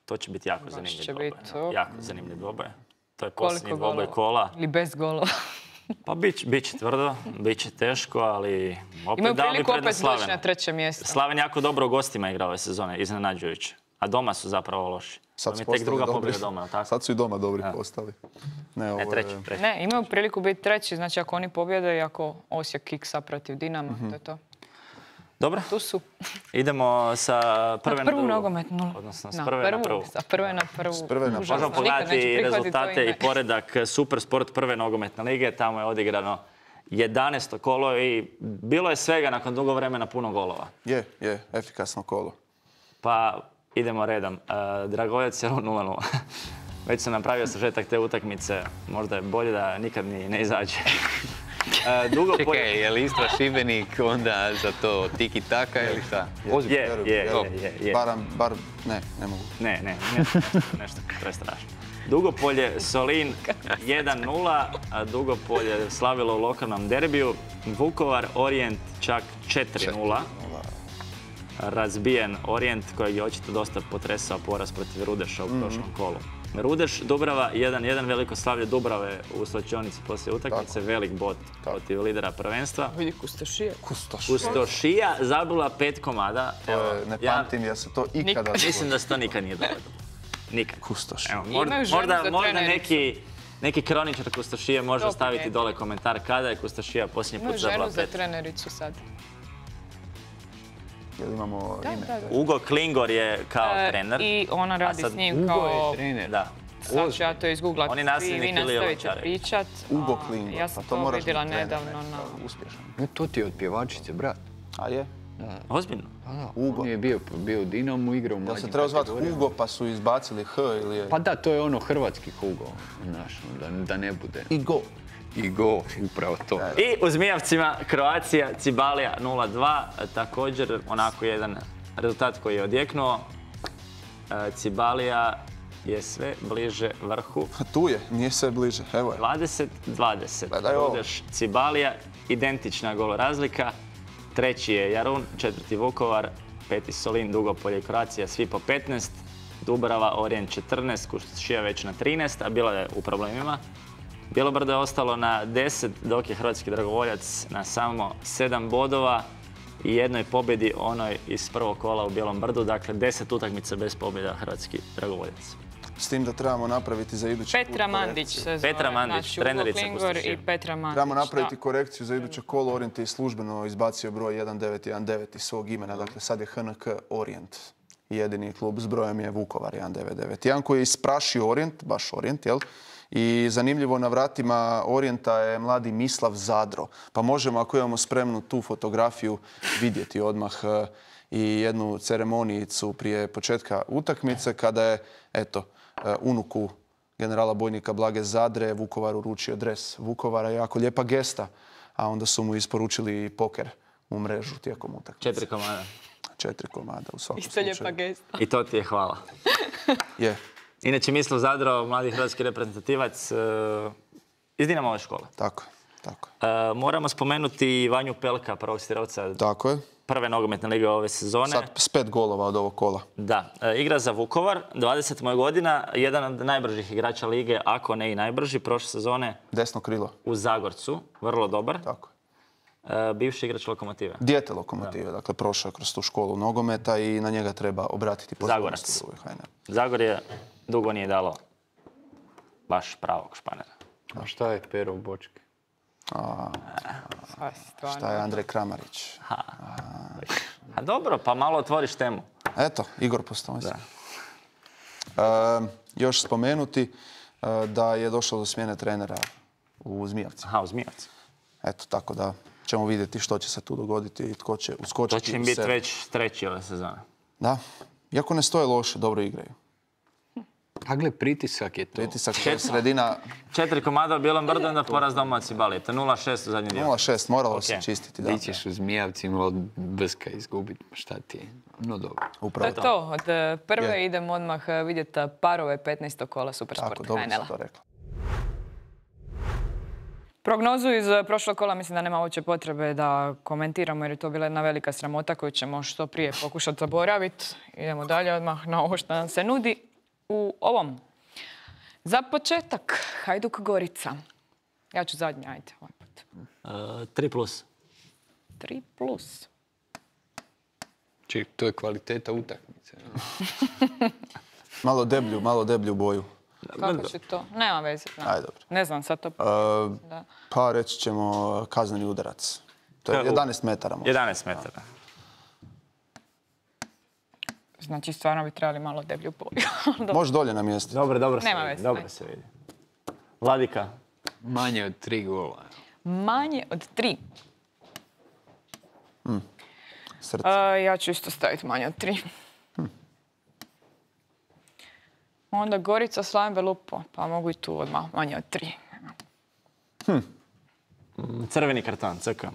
To će biti jako zanimljiv će dvoboj. biti, Jako zanimljiv dvoboj. To je Koliko posljednji dvoboj golova? kola. Ili bez golova. Pa bit će tvrdo, bit će teško, ali opet Imaju dao bi priliku prednost opet doći Slavenu. na treće mjesto. Slaven jako dobro u gostima igra ove sezone, iznenađujuće. A doma su zapravo loši. Sad To su mi je tek druga postali dobri. pobjeda doma, tako? Sad su i doma dobri postali. Ne, ovo Ne, je- treći. Ne, imaju priliku biti treći, znači ako oni pobjede i ako Osijek kiksa protiv Dinama, to je to. Dobro, Tu su. idemo sa prve na Prvu drugu. nogometnu. Odnosno s prve na prvu. Sa prve na prvu. prve na prvu. Užasno. Možemo Nikad pogledati neću prihvatiti to rezultate ime. i poredak Supersport prve nogometne lige. Tamo je odigrano 11. kolo i bilo je svega nakon dugo vremena puno golova. Je, efikasno kolo. Pa idemo redom. Dragojevac je 0-0. Već sam napravio sažetak te utakmice. Možda je bolje da nikad ni ne izađe. Čekaj, je li Istra Šibenik onda za to tiki-taka ili šta? Je. Bar, ne mogu. Ne, nešto prestrašno. Dugopolje Solin 1-0, a Dugopolje slavilo u lokalnom derbiju. Vukovar Orijent čak 4-0. Razbijen Orijent kojeg je očito dosta potresao poraz protiv Rudeša u prošlom kolu. Rudeš, Dubrava 1-1, veliko slavlje Dubrave u slačionici poslije utakmice, velik bot protiv lidera prvenstva. Vidi Kustošije. Kustošija zabila 5 komada. Ne pamtim ja se to ikada... Mislim da se to nikad nije dogodilo. Nikad. Kustoš. Evo, Imaju ženu možda za trenericu. neki kroničar Kustošije može To staviti primijeti. dole komentar kada je Kustošija posljednji put Imaju zabila ženu za 5. trenericu sad. Jel imamo ime? Da. Ugo Klingor je kao trener. I ona radi sad s njim Ugo kao... je trener. Da. Sad ću ja to izgooglat. On je Vi nasljednik Ilije nastavite Lončarevića. pričat. Ugo Klingor. Ja sam Pa to moraš vidjela biti trener, nedavno ne, na... to je uspješan. To ti je od pjevačice, brat. A je? Ozbiljno. Ugo. On je bio u Dinamu, igrao u Jel mlađim se trebao zvati kategorijama. Hugo pa su izbacili H ili je... Pa da, to je ono hrvatski Hugo, znaš, da ne bude. Igo. Igo, upravo to. I u Zmijavcima Kroacija, Cibalija 0-2. Također onako jedan rezultat koji je odjeknuo. Cibalija je sve bliže vrhu. Tu je, nije sve bliže. Evo je. 20-20. Gledaj ovo. Rudeš, Cibalija, identična gol razlika. Treći je Jarun, četvrti Vukovar, peti Solin, Dugopolje i Kroacija, svi po 15. Dubrava, Orijent 14, Kustošija već na 13, a bila je u problemima. Bjelobrdo je ostalo na 10, dok je hrvatski dragovoljac na samo 7 bodova i jednoj pobjedi onoj iz prvog kola u Bijelom Brdu. Dakle, 10 utakmica bez pobjeda hrvatski dragovoljac. S tim da trebamo napraviti za idući put Petra Mandić se zove. Petra Mandić, trenerica Pustošina. I Petra Mandić. Trebamo napraviti korekciju za iduće kolo. Orient je službeno izbacio broj 1919 iz svog imena. Dakle, sad je HNK Orient. Jedini klub s brojem je Vukovar 1991 koji je isprašio Orient, baš Orient, jel? I zanimljivo, na vratima Orijenta je mladi Mislav Zadro. Pa možemo, ako imamo spremnu tu fotografiju, vidjeti odmah i jednu ceremonijicu prije početka utakmice kada je, eto, unuku generala bojnika Blage Zadre Vukovar uručio dres Vukovara. Jako lijepa gesta, a onda su mu isporučili i poker u mrežu tijekom utakmice. 4 komada. 4 komada u svakom slučaju. slučaju. Isto lijepa gesta. I to ti je hvala. Je. Inače, Mislav Zadro, mladi hrvatski reprezentativac iz Dinamove škole. Tako je. Moramo spomenuti Vanju Pelka, prvog stirovca. Tako je. Prve nogometne lige ove sezone. Sad s 5 golova od ovog kola. Da. Igra za Vukovar, 20 mu je godina, jedan od najbržih igrača lige, ako ne i najbrži, prošle sezone. Desno krilo. U Zagorcu, vrlo dobar. Tako je. Bivši igrač Lokomotive. Dijete Lokomotive, dakle prošao kroz tu školu nogometa i na njega treba obratiti pozornost. Zagorac. Zagorje dugo nije dalo baš pravog Španera. A šta je Pero u bočki? Šta je Andrej Kramarić? A dobro, pa malo otvoriš temu. Eto, Igor Postojnski. Još spomenuti da je došlo do smjene trenera u Zmijavci. Aha, u Zmijavci. Eto, tako da ćemo vidjeti što će se tu dogoditi i tko će uskočiti. To će im biti već treći ove sezone. Da, iako ne stoje loše, dobro igraju. A gle, pritisak je to. Pritisak je sredina... 4 komada u Bijelom Brdu, onda poraz domaći Balijeta. 0-6 u zadnjem dijelu. 0-6, moralo se čistiti. Ti ćeš u Zmijavcima od Brska izgubiti. Šta ti je? No dobro. Upravo to. Od prve idemo odmah vidjeti parove 15. kola Supersport HNL-a. Tako, dobro si to rekla. Prognozu iz prošlog kola mislim da nema uopće potrebe da komentiramo jer je to bila jedna velika sramota koju ćemo što prije pokušati zaboraviti. Idemo dalje odmah na ovo što nam se nudi u ovom. Za početak, Hajduk Gorica. Ja ću zadnji, ajde. 3+. 3+. Ček, to je kvaliteta utakmice. Malo deblju boju. Kako će to? Nema veze. Ajde, dobro. Ne znam sad to. Pa reći ćemo kazneni udarac. To je 11 metara. 11 metara. Znači, stvarno bi trebali malo deblju boju. Može dolje na mjestu. Dobro Nema veze. Dobro se vidi. Vladika. Manje od 3 gola. Manje od 3. Srce. Ja ću isto staviti manje od 3. Onda Gorica, Slaven Belupo. Pa mogu i tu odmah manje od 3. Crveni karton, CK.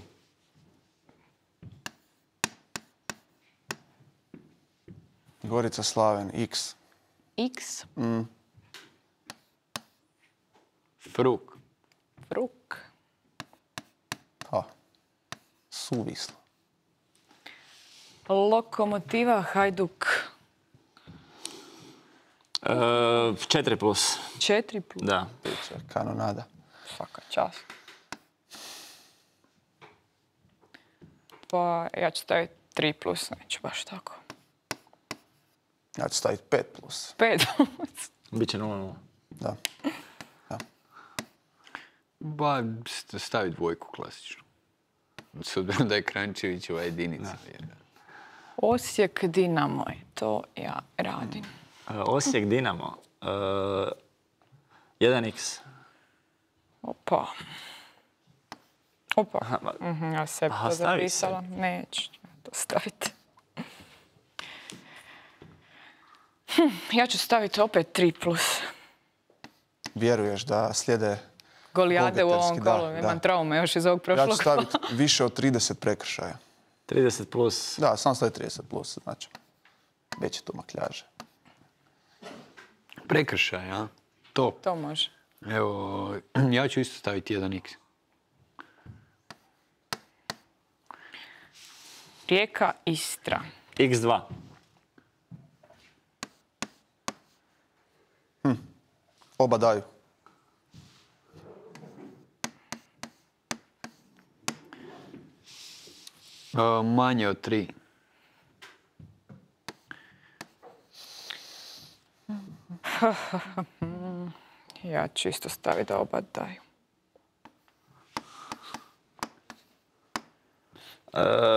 Gorica, Slaven, X. X. Fruk. Suvislo. Lokomotiva, Hajduk. 4+. 4+. Da. Kanonada. Svaka čast. Pa ja ću staviti 3+, neću baš tako. Ja ću staviti 5+. 5+. Biće 0-0. Da. Ba, stavi dvojku klasičnu. S obzirom da je Krančevićeva jedinica. Osijek, Dinamo, to ja radim. Osijek, Dinamo. 1x. Opa. Ja sebi to zapisala. Neću to staviti. Ja ću staviti opet 3+. Vjeruješ da slijede golijade u ovom kolu? Imam traume još iz ovog prošlog kola. Ja ću staviti više od 30 prekršaja. 30+. Da, sam staviti 30+, znači. Veće tu makljaže. Prekršaj, a? Top. To može. Evo, ja ću isto staviti 1x. Rijeka, Istra. x2. Oba daju. Manje od 3. Ja ću isto staviti da oba daju.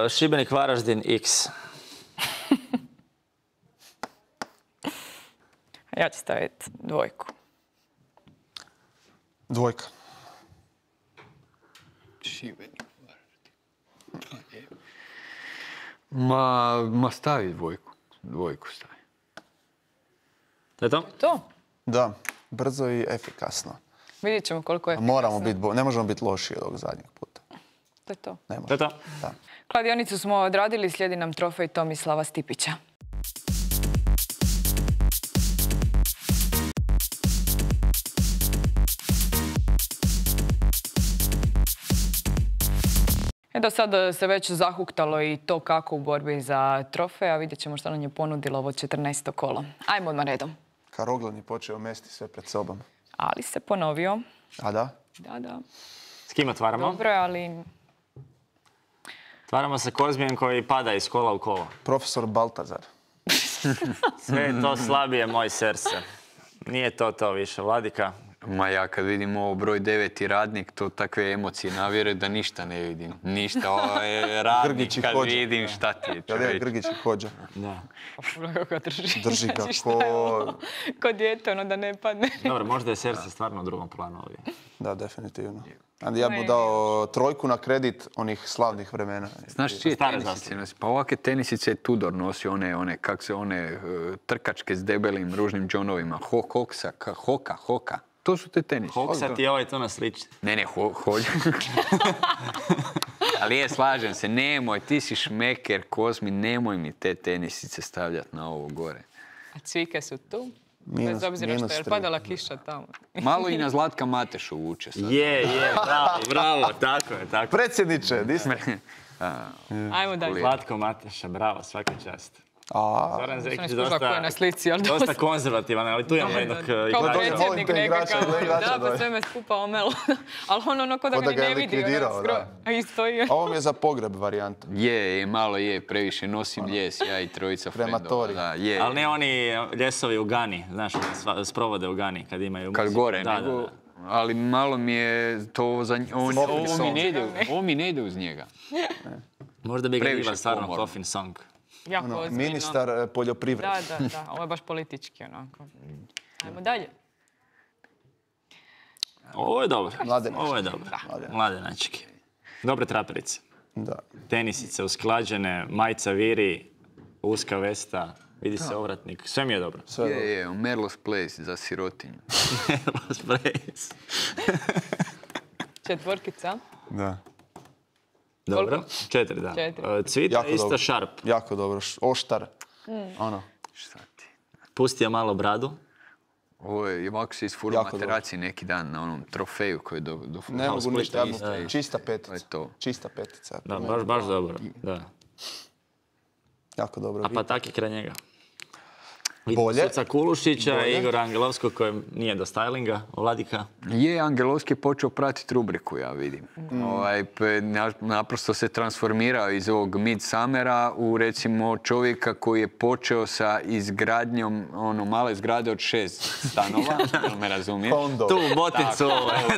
Šibenik Varaždin X. Ja ću staviti 2. 2. Šibenik, Varaždin. Ma stavi 2. 2 stavi. To je to? To? Da, brzo i efikasno. Vidjet ćemo koliko je. Moramo biti, ne možemo biti lošiji od ovog zadnjeg puta. To je to. Ne To je to? Da. Kladionicu smo odradili, slijedi nam trofej Tomislava Stipića. Do sad se već zahuktalo i to kako u borbi za trofej, a vidjet ćemo što nam je ponudilo ovo 14. kolo. Ajmo odmah redom. Karoglan je počeo mesti sve pred sobom. Ali se ponovio. A da? Da. S kim otvaramo? Dobro, ali... Otvaramo se Kozmijem koji pada iz kola u kolo. Profesor Baltazar. Sve je to slabije moj srce. Nije to više, Vladika. Ma ja kad vidim ovo broj 9 radnik, to takve emocije navjere da ništa ne vidim. Ništa, ovo je radnik Grgić i kad Hođa. vidim šta ti je Jel je čovječ. Grgić i Hođa? Da. Kako ga drži. Drži ga Znači, šta je ovo? Ko dijete, ono da ne padne. Dobro, možda je srce stvarno u drugom planu ovdje. Da, definitivno. A ja bih dao 3 na kredit onih slavnih vremena. Znaš čije Stare tenisice zastave. nosi? Pa ovakve tenisice je Tudor nosio, one trkačke s debelim ružnim džonovima. Hoka. To su te tenisice. Hoksa ti je ovaj to na sliči. Ne, Hođa. Ali slažem se, nemoj, ti si šmeker, Kozmi, nemoj mi te tenisice stavljati na ovo gore. A cvike su tu. Minus- Bez obzira što je minus 3. padala kiša tamo. Malo i na Zlatka Matešu vuče sad. Je, bravo, tako je. Predsjedniče, di ste? Ajmo dalje. Zlatko Mateša, bravo, svaka čast. Zoran Nisam Zekić iskužila ko je na slici, ali dosta konzervativan, ali tu imamo jednog kao igrača. predsjednik Volim te igrače, nekakav. igrača, Da, da. pa sve me skupa omelo. Ali ono ko da ga Ko da ni ga je ne vidi. likvidirao, da. A isto i... Ovo mi je za pogreb varijanta. Malo je, previše nosim ljes, ja i trojica frendova. Krematorij. Da, je. Ali ne oni ljesovi u Gani, znaš, sprovode u Gani kad imaju Kad muziku. gore, Da. nego... Ali malo mi je to za... Ovo mi ne ide uz njega. Možda bi ga Previše bila stvarno pomorno. coffin song. Jako ozbiljno. Ministar poljoprivrede. Da, ovo je baš politički onako. Ajmo dalje. Ovo je dobro. Mladenački. Ovo je dobro. Mladenački. Dobre traperice. Da. Tenisice usklađene, majica viri, uska vesta, vidi se ovratnik. Sve mi je dobro. Sve dobro. Je, Merlos Place za sirotinju. Četvorkica. Da. Dobro. 4, da. 4. Cvita Jako isto dobro. šarp. Jako dobro. Oštar. Ono. Šta ti? Pustio malo bradu. Ovo je, ovako se isfurao Jako materaci neki dan na onom trofeju koji je do Ne mogu ništa. Ja Isto. čista To je petica. to. Čista petica. Da, baš dobro. Da. Jako dobro. A pa tak je kraj njega. Bolje. Suca Kulušića i Bolje. Igora Angelovskog kojem nije do stylinga, Vladika. Je, Angelovski je počeo pratiti rubriku, ja vidim. Naprosto se transformirao iz ovog Midsummera u, recimo, čovjeka koji je počeo sa izgradnjom male zgrade od 6 stanova, jel me razumiješ? Kondo. Tu u Boticu.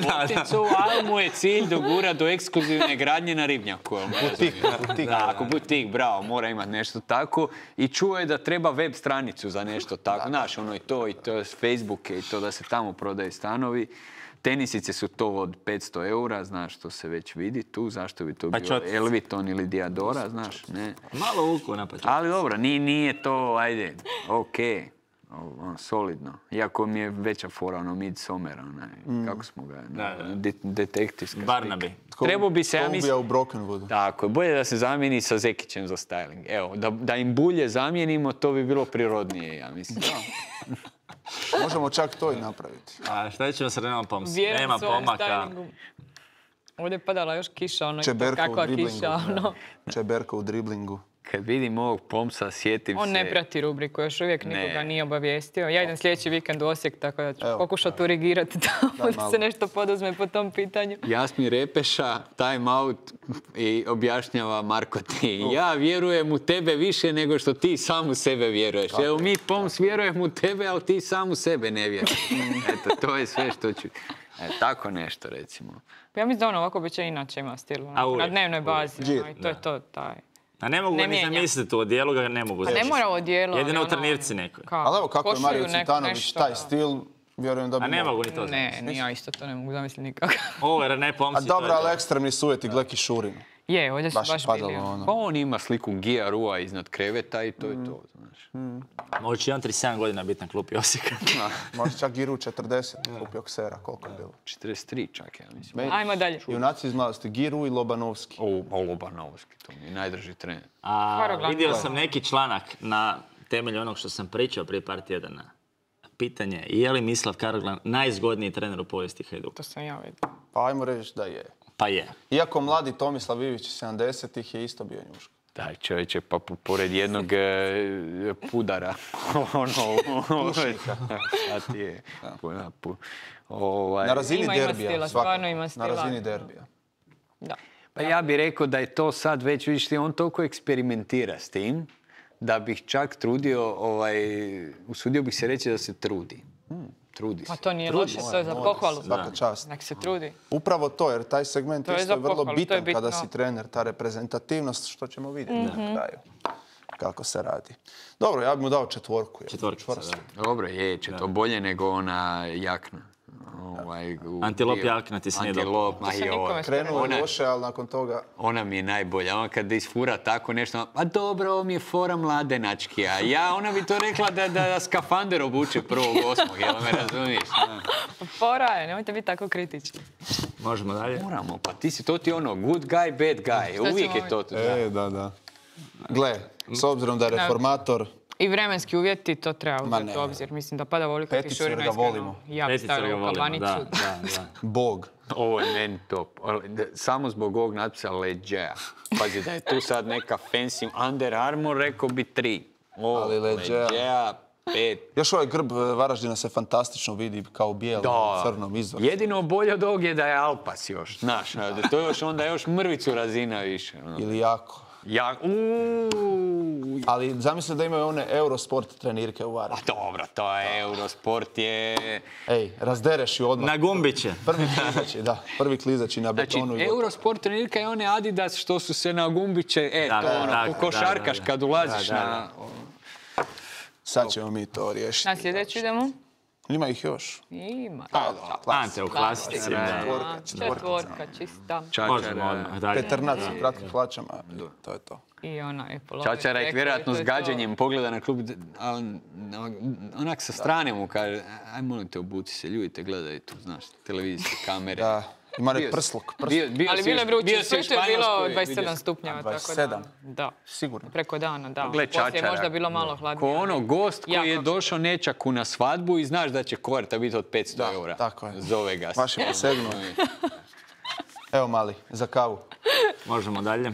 Boticu, ali mu je cilj dogura do ekskluzivne gradnje na Ribnjaku. jel me razumiješ? Butik. Da, ako butik, bravo, mora imati nešto tako. I čuo je da treba web stranicu za nešto tako. Znaš, i to s Facebooke i to da se tamo prodaje stanovi. Tenisice su to od 500 eura, znaš, to se već vidi tu. Zašto bi to bio Elviton ili Diadora, znaš, ne. Malo uku na početku. Ali dobro, nije to, ajde, okej. Solidno. Iako mi je veća fora, Midsommar, kako smo ga, detektivska slika. Barnaby. Trebao bi se, ja Ko mislim... ubija u Brokenwoodu. Tako, bolje da se zamijeni sa Zekićem za styling. Evo, da im bulje zamijenimo, to bi bilo prirodnije, ja mislim. Možemo čak to i napraviti. A šta ćemo sa Renom Pomsom? Vjerujem Nema svojem pomaka. stylingu. Ovdje je padala još kiša, ono, Čeberka kakva u driblingu. kiša, ono. Čeberka u driblingu. Kad vidim ovog Pomsa, sjetim On se... ne prati rubriku, još uvijek nikoga nije obavijestio. Ja idem sljedeći vikend u Osijek, tako da ću pokušati urigirati tamo da se nešto poduzme po tom pitanju. Jasmin Repeša, time out i objašnjava Marko ti. Ja vjerujem u tebe više nego što ti sam u sebe vjeruješ. Evo mi Poms vjerujem u tebe, ali ti sam u sebe ne vjeruješ. Eto, to je sve što ću... tako nešto, recimo. Ja mislim da on ovako bi će inače ima stil. Na dnevnoj bazi. I to je to, taj. A ne mogu ni zamisliti u odijelu, ga ne mogu zamisliti. A ne mora u odijelu. Jedino u trenirci nekoj. Ali evo kako je Mario Cvitanović, taj stil, vjerujem da bi... A ne mogu ni to zamisliti. Ne, ja isto to ne mogu zamisliti nikako. Ovo je René Pomsi. A dobro, ali ekstremni su uvjeti, Gleki Šurinu. Je, ovdje su baš bili. Pa on ima sliku Gija Rua iznad kreveta i to je to, znaš. Može će on 37 godina biti na klupi Osijeka. Može čak Giru 40, klupi Oksera, koliko je bilo? 43 čak, ja mislim. Ajmo dalje. Junaci iz mladosti, Giru i Lobanovski. Lobanovski, to mi je najdrži trener. Vidio sam neki članak na temelju onog što sam pričao prije par tjedana. Pitanje, je li Mislav Karoglan najzgodniji trener u povijesti Hajduka? To sam ja vidio. Pa ajmo reći da je. Pa je. Iako mladi Tomislav Ivić 70-ih je isto bio njuško. Daj čovječe, pa pored jednog pudara. A ti je. Na razini derbija. Ima stila. Na razini derbija. Da. Pa ja bih rekao da je to sad već, vidiš ti, on toliko eksperimentira s tim, da bih čak trudio, usudio bih se reći da se trudi. Trudi se. Pa to nije loše, to je za pohvalu. Svaka čast. Nek se trudi. Upravo to, jer taj segment isto je vrlo bitan kada si trener, ta reprezentativnost, što ćemo vidjeti na kraju. Kako se radi. Dobro, ja bih mu dao 4. Četvorkica, da. Dobro, to bolje nego ona jakna. Antilop jakna ti se nije dobro. Krenuo je loše, ali nakon toga... Ona mi je najbolja. Ona kada isfura tako nešto, pa dobro, ovo mi je fora mladenački. A ona bi to rekla da skafander obuče 1.8. Jel me razumiješ? Fora je, nemojte biti tako kritični. Možemo dalje? Moramo, pa to ti ono good guy, bad guy. Uvijek je to. Da. Gle, s obzirom da je reformator... I vremenski uvjeti, to treba uzeti u obzir. Mislim da pada volika Kišurina. Peticu ga volimo. Ja bi stavila u kabanicu. Bog. Ovo je meni top. Samo zbog ovog natpisa Leđeja. Pazi da je tu sad neka fancy Under Armour, rekao bi 3. Ali Leđeja 5. Još ovaj grb Varaždina se fantastično vidi kao bijel u crnom izvoru. Jedino bolje od ovog je da je Alpas još. Znaš, to je onda još mrvicu razina više. Ili jako. Ali zamisli da imaju one Eurosport trenirke u Varaždinu. Dobro, to je Eurosport je... Ej, razdereš ju odmah. Na gumbiće. Prvi klizaći na betonu. Znači, Eurosport trenirka je one Adidas što su se na gumbiće, košarkaš kad ulaziš na... Sad ćemo mi to riješiti. Na sljedeću idemo? Ima ih još. Ima. Ante u klasici. Četvorka, čista. Možemo odmah dalje. Peternac u kratkim hlačama. To je to. I ona je polovica. Čačara ih vjerojatno s gađanjem pogleda na klub, ali onak sa strane mu kaže, aj molim te obuci se, ljudi te gledaju tu, znaš, televizijske kamere. Da, ima nek prsluk. Ali bilo je vruće, sve je bilo 27 stupnjeva, tako da. 27? Da. Sigurno. Preko dana, da. Poslije je možda bilo malo hladnije. Ko ono gost koji je došao nečaku na svadbu i znaš da će koverta biti od 500 eura. Tako je. Zove ga. Baš je posegnuo. Evo mali, za kavu. Možemo dalje.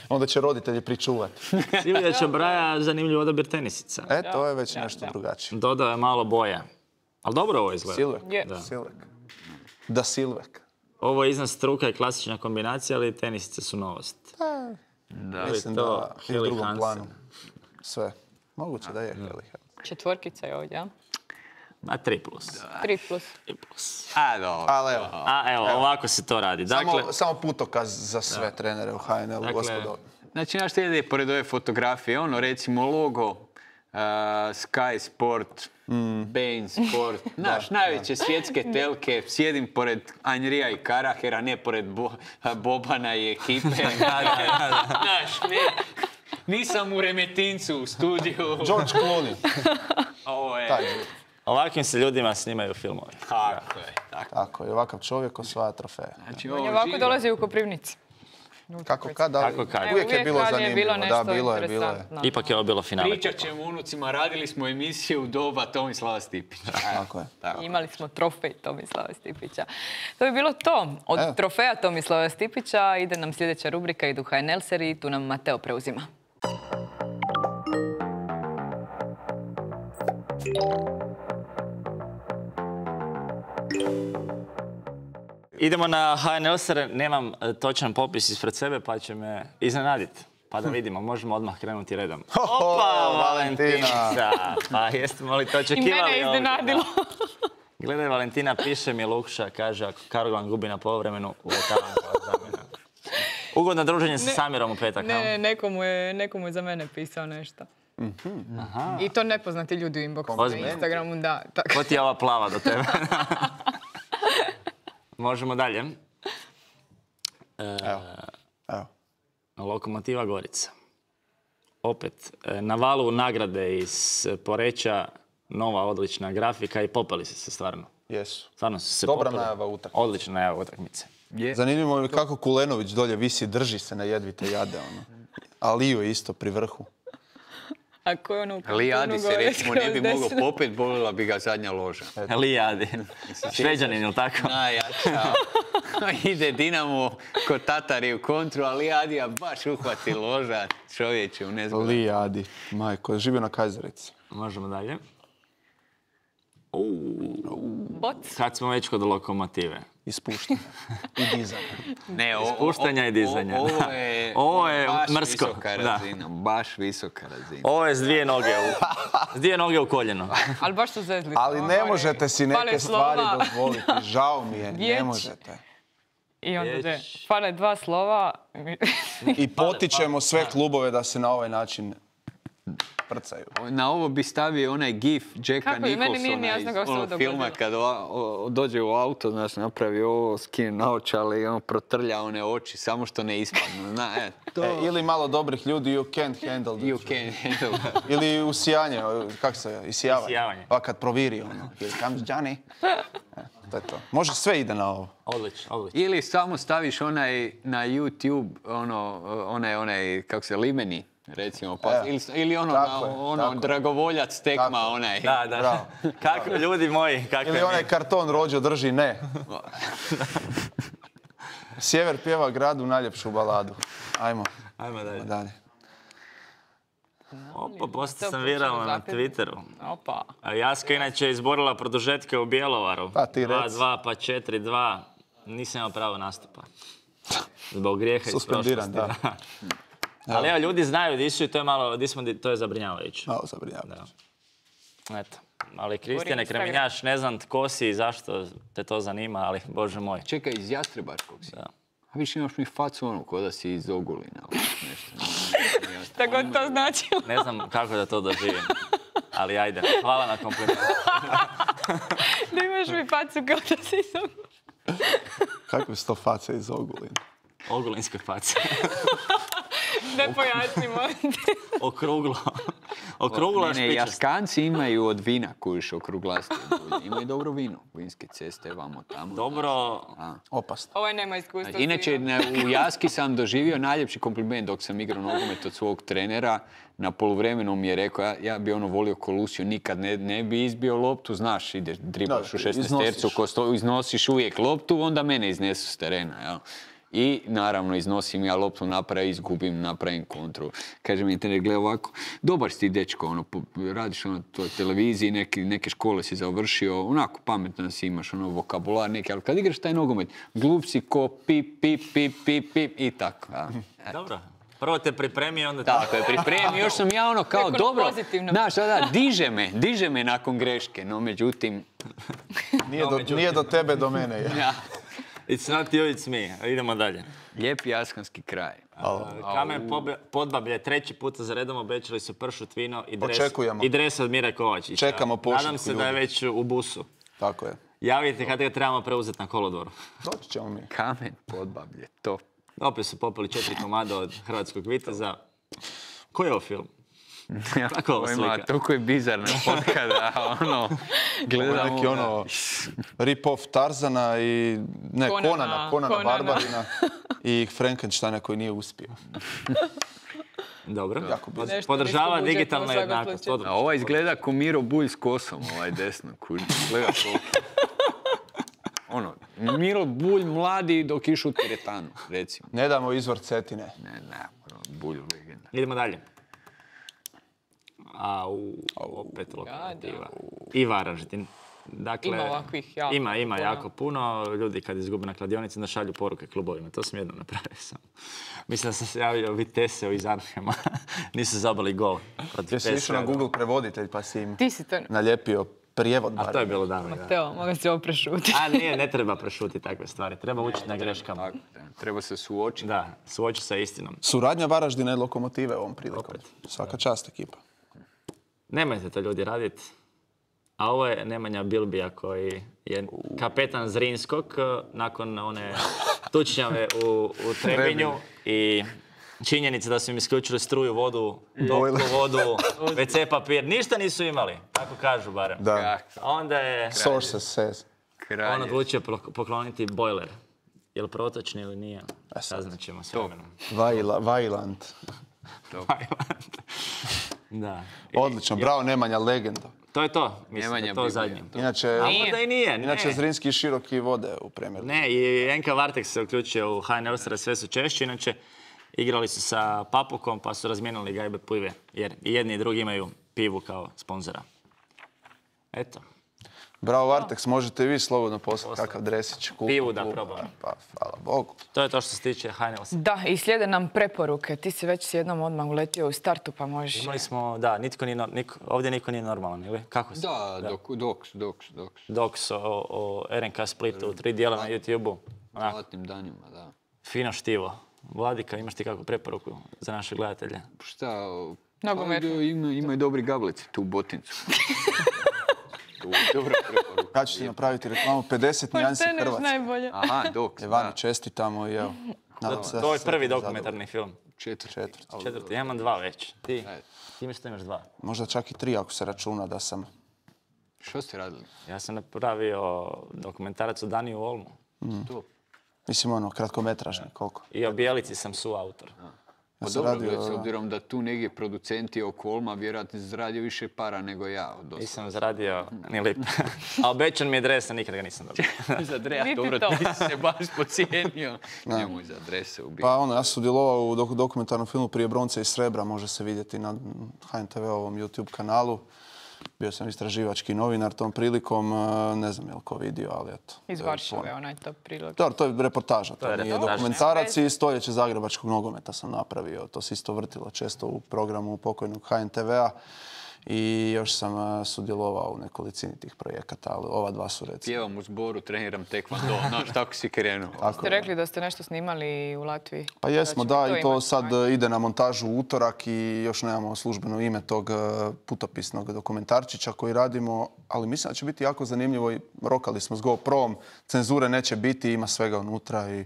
Onda će roditelji pričuvati. Silvija Čabraja, zanimljiv odabir tenisica. To je već nešto drugačije. Dodao je malo boja. Ali dobro ovo izgleda. Silvek. Da Silvek. Ovo je iznad struka i klasična kombinacija, ali tenisice su novost. Mislim da je u drugom planu. Sve. Moguće da je Heli. Četvorkica je ovdje, a? 3+. 3+. A, dobro. Evo, ovako se to radi. Samo putokaz za sve trenere u HNL-u, gospodo. Znači, znaš što ide pored ove fotografije? Recimo, logo Sky Sport, Bein Sport. Znaš, najveće svjetske telke. Sjedim pored Anrija i Karahera, ne pored Bobana i ekipe. Znaš, nisam u Remetincu u studiju. George Clooney. Ovo je... Ovakvim se ljudima snimaju filmovi. Tako je, ovakav čovjek osvaja trofeje. On je ovako dolazi u Koprivnici. Kako kad, ali uvijek je bilo zanimljivo. Da, bilo je. Ipak je ovo bilo finale. Pričat ćemo unucima, radili smo emisiju u doba Tomislava Stipića. Tako je. Imali smo trofej Tomislava Stipića. To bi bilo to. Od trofeja Tomislava Stipića ide nam sljedeća rubrika, idu HNL seriji, tu nam Mateo preuzima. Idemo na HNL ser, nemam točan popis ispred sebe pa će me iznenaditi. Pa da vidimo, možemo odmah krenuti redom. Opa, Valentina! Pa jeste li to očekivali? I mene je iznenadilo. Gledaj, Valentina, piše mi Lukša, kaže, ako Kargovan gubi na poluvremenu, uvetavam kao zamjena. Ugodno druženje sa Samirom u petak. Ne, nekomu je za mene pisao nešto. I to nepoznati ljudi u inboxu na Instagramu, da. Ko ti je ova plava do tebe? Možemo dalje. Evo. Lokomotiva Gorica. Opet, na valu nagrade iz Poreča, nova odlična grafika i popeli su se stvarno. Jesu. Stvarno su se Dobra popeli. najava utakmice. Odlična najava utakmice. Zanimljivo je kako Kulenović dolje visi, drži se na jedvite jade. Aliju je isto pri vrhu. A ko je ono u kantonu Lijadi se gore recimo ne bi skroz mogao desno? popet, bolila bi ga zadnja loža. Lijadi. Šveđanin, ili tako? Najjača. Ide Dinamo kod Tatari u kontru, a Lijadija baš uhvati loža čovječe u nezgodu. Lijadi, majko, živio na Kajzerici. Možemo dalje. Boc. Kad smo već kod lokomotive. Ispuštanja i dizanja. Ne, Ispuštanja i dizanja. Ovo je baš mrsko. visoka Razina, baš visoka razina. Ovo je s dvije noge u koljeno. Ali baš su zezli. Ali ne možete si neke Fale stvari slova. dozvoliti. Žao mi je, ne Vijeć. možete. I onda fale dva slova. I potičemo sve klubove da se na ovaj način prcaju. Na ovo bi stavio onaj gif Jacka Kako je? Meni nije ni Nicholsona jasno kako se ovo iz filma dogodilo. kad dođe u auto, znaš, napravi ovo, skine naočale i on protrlja one oči, samo što ne ispadnu. Ili malo dobrih ljudi, you can't handle the You truth. can handle that. Ili usijanje, kako se je, isijavanje. Isijavanje. Pa kad proviri ono, here comes Johnny. To je to. Može sve ide na ovo. Odlično. Ili samo staviš onaj na YouTube, onaj, kako se, limeni, recimo, pa, ili ono dragovoljac tekma, Tako. onaj. Da. Kako, ljudi moji, kako Ili je onaj karton Rođo drži ne. Sjever pjeva gradu najljepšu baladu. Ajmo dalje. Opa, postao sam viralna na Twitteru. Opa. A Jaska inače je izborila produžetke u Bjelovaru. Pa ti reci. 2-2 pa 4-2. Nisam imao pravo nastupa. Zbog grijeha iz Suspendiran, prošlosti. da. Ali evo, ljudi znaju di su i to je malo, to je zabrinjavajuće. Malo zabrinjavajuće. Eto. Ali Kristijane Kremenjaš, ne znam tko si i zašto te to zanima, ali bože moj. Čekaj, iz Jastrebačkog si. Da. A više imaš mi facu ono, ko da si iz Ogulina. Šta god to značilo. Ne znam kako da to doživim. Ali ajde, hvala na komplimentu. Da imaš mi facu kao da si sam. Kakve su to face iz Ogulina? Ogulinske face. Ne pojasnimo. Okruglo. Okruglo Ne, špičast. Jaskanci imaju od vina kojiš okruglasti. Imaju dobro vino. Vinske ceste, vamo tamo. Dobro. Opasno. Ovaj nema iskustva. Inače, u Jaski sam doživio najljepši kompliment dok sam igrao nogomet od svog trenera. Na poluvremenu mi je rekao, ja bi ono volio Kolusiju, nikad ne bi izbio loptu, znaš, ideš, dribaš u 16-tercu, iznosiš uvijek loptu, onda mene iznesu s terena, jel? I naravno iznosim ja loptu napravim, izgubim, napravim kontru. Kaže mi trener, gle ovako, dobar si ti dečko, ono, radiš na toj televiziji, neke škole si završio, onako pametan si, imaš ono vokabular neki, ali kad igraš taj nogomet, glup si ko pip, pip, pip, pip, pip i tako. Ja. Dobro. Prvo te pripremi, onda... Tako je, pripremi, još sam ja ono kao dobro, znaš, diže me nakon greške, no međutim... Nije do tebe, do mene je. Ja. It's not you, it's me. Idemo dalje. Lijepi jaskanski kraj. Kamen Podbablje, treći put za redom obećali su pršut, vino Očekujemo. i dres od Mire Kovačića. Čekamo pošiljku, Nadam se da je već u busu. Tako je. Javite kad ga trebamo preuzeti na kolodvoru. Doći ćemo mi. Kamen Podbablje, top. Opet su popili 4 komada od Hrvatskog viteza. Koji je ovo film? Tako slika. Toliko je bizarna fotka da gledamo... Neki rip-off Tarzana i... Ne, Konana Barbarina i Frankensteina koji nije uspio. Dobro. Podržava digitalna jednakost. A ovaj izgleda ko Miro Bulj s kosom, ovaj desno. Gleda Miro Bulj mladi dok išu u teretanu, recimo. Ne damo izvor Cetine. Ne, Bulj legenda. Idemo dalje. Opet Lokomotiva. I Varaždin. Dakle, ima ovakvih jako Ima jako puno. Ljudi kad izgube na kladionici da šalju poruke klubovima. To sam jednom napravio sam. Mislim da sam se javio Viteseu iz Arnhema. Nisu zabali gol. Jesi išao na Google prevoditelj pa si im to... naljepio prijevod. A to je bilo davno. Mateo, mogu si ovo prešutiti. Ne treba prešutiti takve stvari. Treba učiti na greškama. Treba se suočiti. Da, suoči sa istinom. Suradnja Varaždina i Lokomotive ovom prilikom. Svaka čast ekipa. Nemojte to ljudi raditi. A ovo je Nemanja Bilbija koji je kapetan Zrinskog nakon one tučnjave u Trebinju i činjenica da su im isključili struju, vodu, toplu vodu, WC papir. Ništa nisu imali, tako kažu barem. Da. A onda je Sources says. On odlučio pokloniti bojler. Je li protočni ili nije? Saznaćemo s vremenom. Vajland. Da. Odlično, bravo Nemanja, legenda. To je to, mislim da je to zadnje. Inače Zrinski široki vode u Premijeru. Ne, i NK Varteks se uključio u HNL, sve su češći, inače igrali su sa Papukom pa su razmijenili gajbe pive, jer i jedni i drugi imaju pivu kao sponzora. Eto. Bravo Varteks, možete vi slobodno poslati kakav dresić. Pivu da probam. Pa, hvala Bogu. To je to što se tiče HNL. Da, i slijede nam preporuke. Ti si već s jednom odmah uletio u startu, pa možeš... Imali smo, da, ovdje niko nije normalan, ili? Kako se? Da, Doks o RNK Splitu, 3 dijela na YouTube-u. Zlatnim danima, da. Fino štivo. Vladika, imaš ti kakvu preporuku za naše gledatelje? Šta? Ima i dobri gablici, tu botincu. Dobra preporuka. Ja ću ti napraviti reklamu 50 nijansi Hrvatske. Najbolje. Aha, Doks. Evani, čestitamo i evo. To je prvi dokumentarni film. Četvrti. Ja imam 2 već. Ti mi što imaš 2. Možda čak i 3 ako se računa da sam... Što ste radili? Ja sam napravio dokumentarac o Daniju Olmu. Mislim kratkometražni, koliko? I o Bijelici sam suautor. Pa dobro, s obzirom da tu negdje producenti oko Olma vjerojatno zaradio više para nego ja. Nisam zaradio ni lipe. A obećan mi je dres, a nikad ga nisam dobio. Za dres, dobro, ti si se baš pocijenio. Nemoj za drese ubiti. Pa ja sam sudjelovao u dokumentarnom filmu Prije bronce i srebra, može se vidjeti na HNTV-ovom YouTube kanalu. Bio sam istraživački novinar tom prilikom, ne znam je li ko vidio, ali eto. Iz Varšave, onaj top prilog. Dobro, to je reportaža, to nije dokumentarac i stoljeće zagrebačkog nogometa sam napravio. To se isto vrtilo često u programu pokojnog HNTV-a i još sam sudjelovao u nekolicini tih projekata, ali ova 2 su recimo. Pjevam u zboru, treniram tekvando, znaš, tako si krenuo. Ste rekli da ste nešto snimali u Latviji? Pa jesmo, da, i to sad ide na montažu u utorak i još nemamo službeno ime tog putopisnog dokumentarčića koji radimo, ali mislim da će biti jako zanimljivo i rokali smo s GoPro-om, cenzure neće biti, ima svega unutra i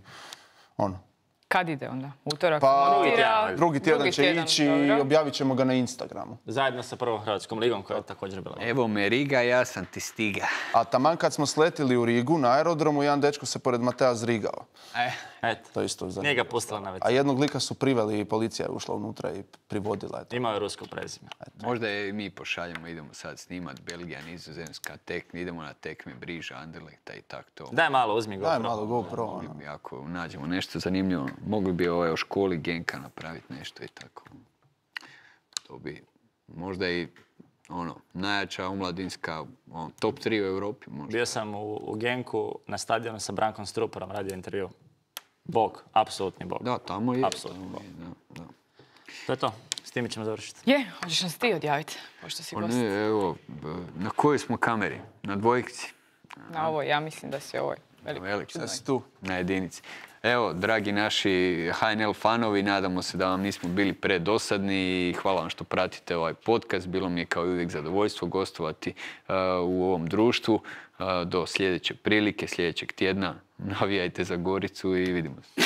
Kad ide onda? Utorak? Pa drugi tjedan će ići i objavit ćemo ga na Instagramu. Zajedno sa Prvom Hrvatskom ligom koja je također bila. Evo me Riga, ja sam ti stiga. A taman kad smo sletili u Rigu na aerodromu, jedan dečko se pored Matea zrigao. Eto, to isto zanimljivo. Nije ga pustila na već. A jednog lika su priveli i policija je ušla unutra i privodila. Imao je rusko prezime. Možda i mi pošaljemo, idemo sad snimat Belgija, Nizozemska, idemo na tekme Briža, Anderlechta i tak to. Daj malo, uzmi GoPro. Daj malo GoPro. Ako nađemo nešto zanimljivo, mogli bi o školi Genka napraviti nešto i tako. To bi možda i najjača omladinska, top 3 u Europi možda. Bio sam u Genku na stadionu sa Brankom Struporom, radio intervju. Bog, apsolutni bog. Da, tamo je. Apsolutni bog. To je to. S time ćemo završiti. Je, hoćeš nas ti odjaviti, pošto si gost. Ne, evo, na kojoj smo kameri? Na dvojkici? Na ovoj, ja mislim da si ovoj. Velik. Sad si tu. Na jedinici. Evo, dragi naši HNL fanovi, nadamo se da vam nismo bili predosadni i hvala vam što pratite ovaj podcast. Bilo mi je kao i uvijek zadovoljstvo gostovati u ovom društvu. Do sljedeće prilike, sljedećeg tjedna. Navijajte za Goricu i vidimo se.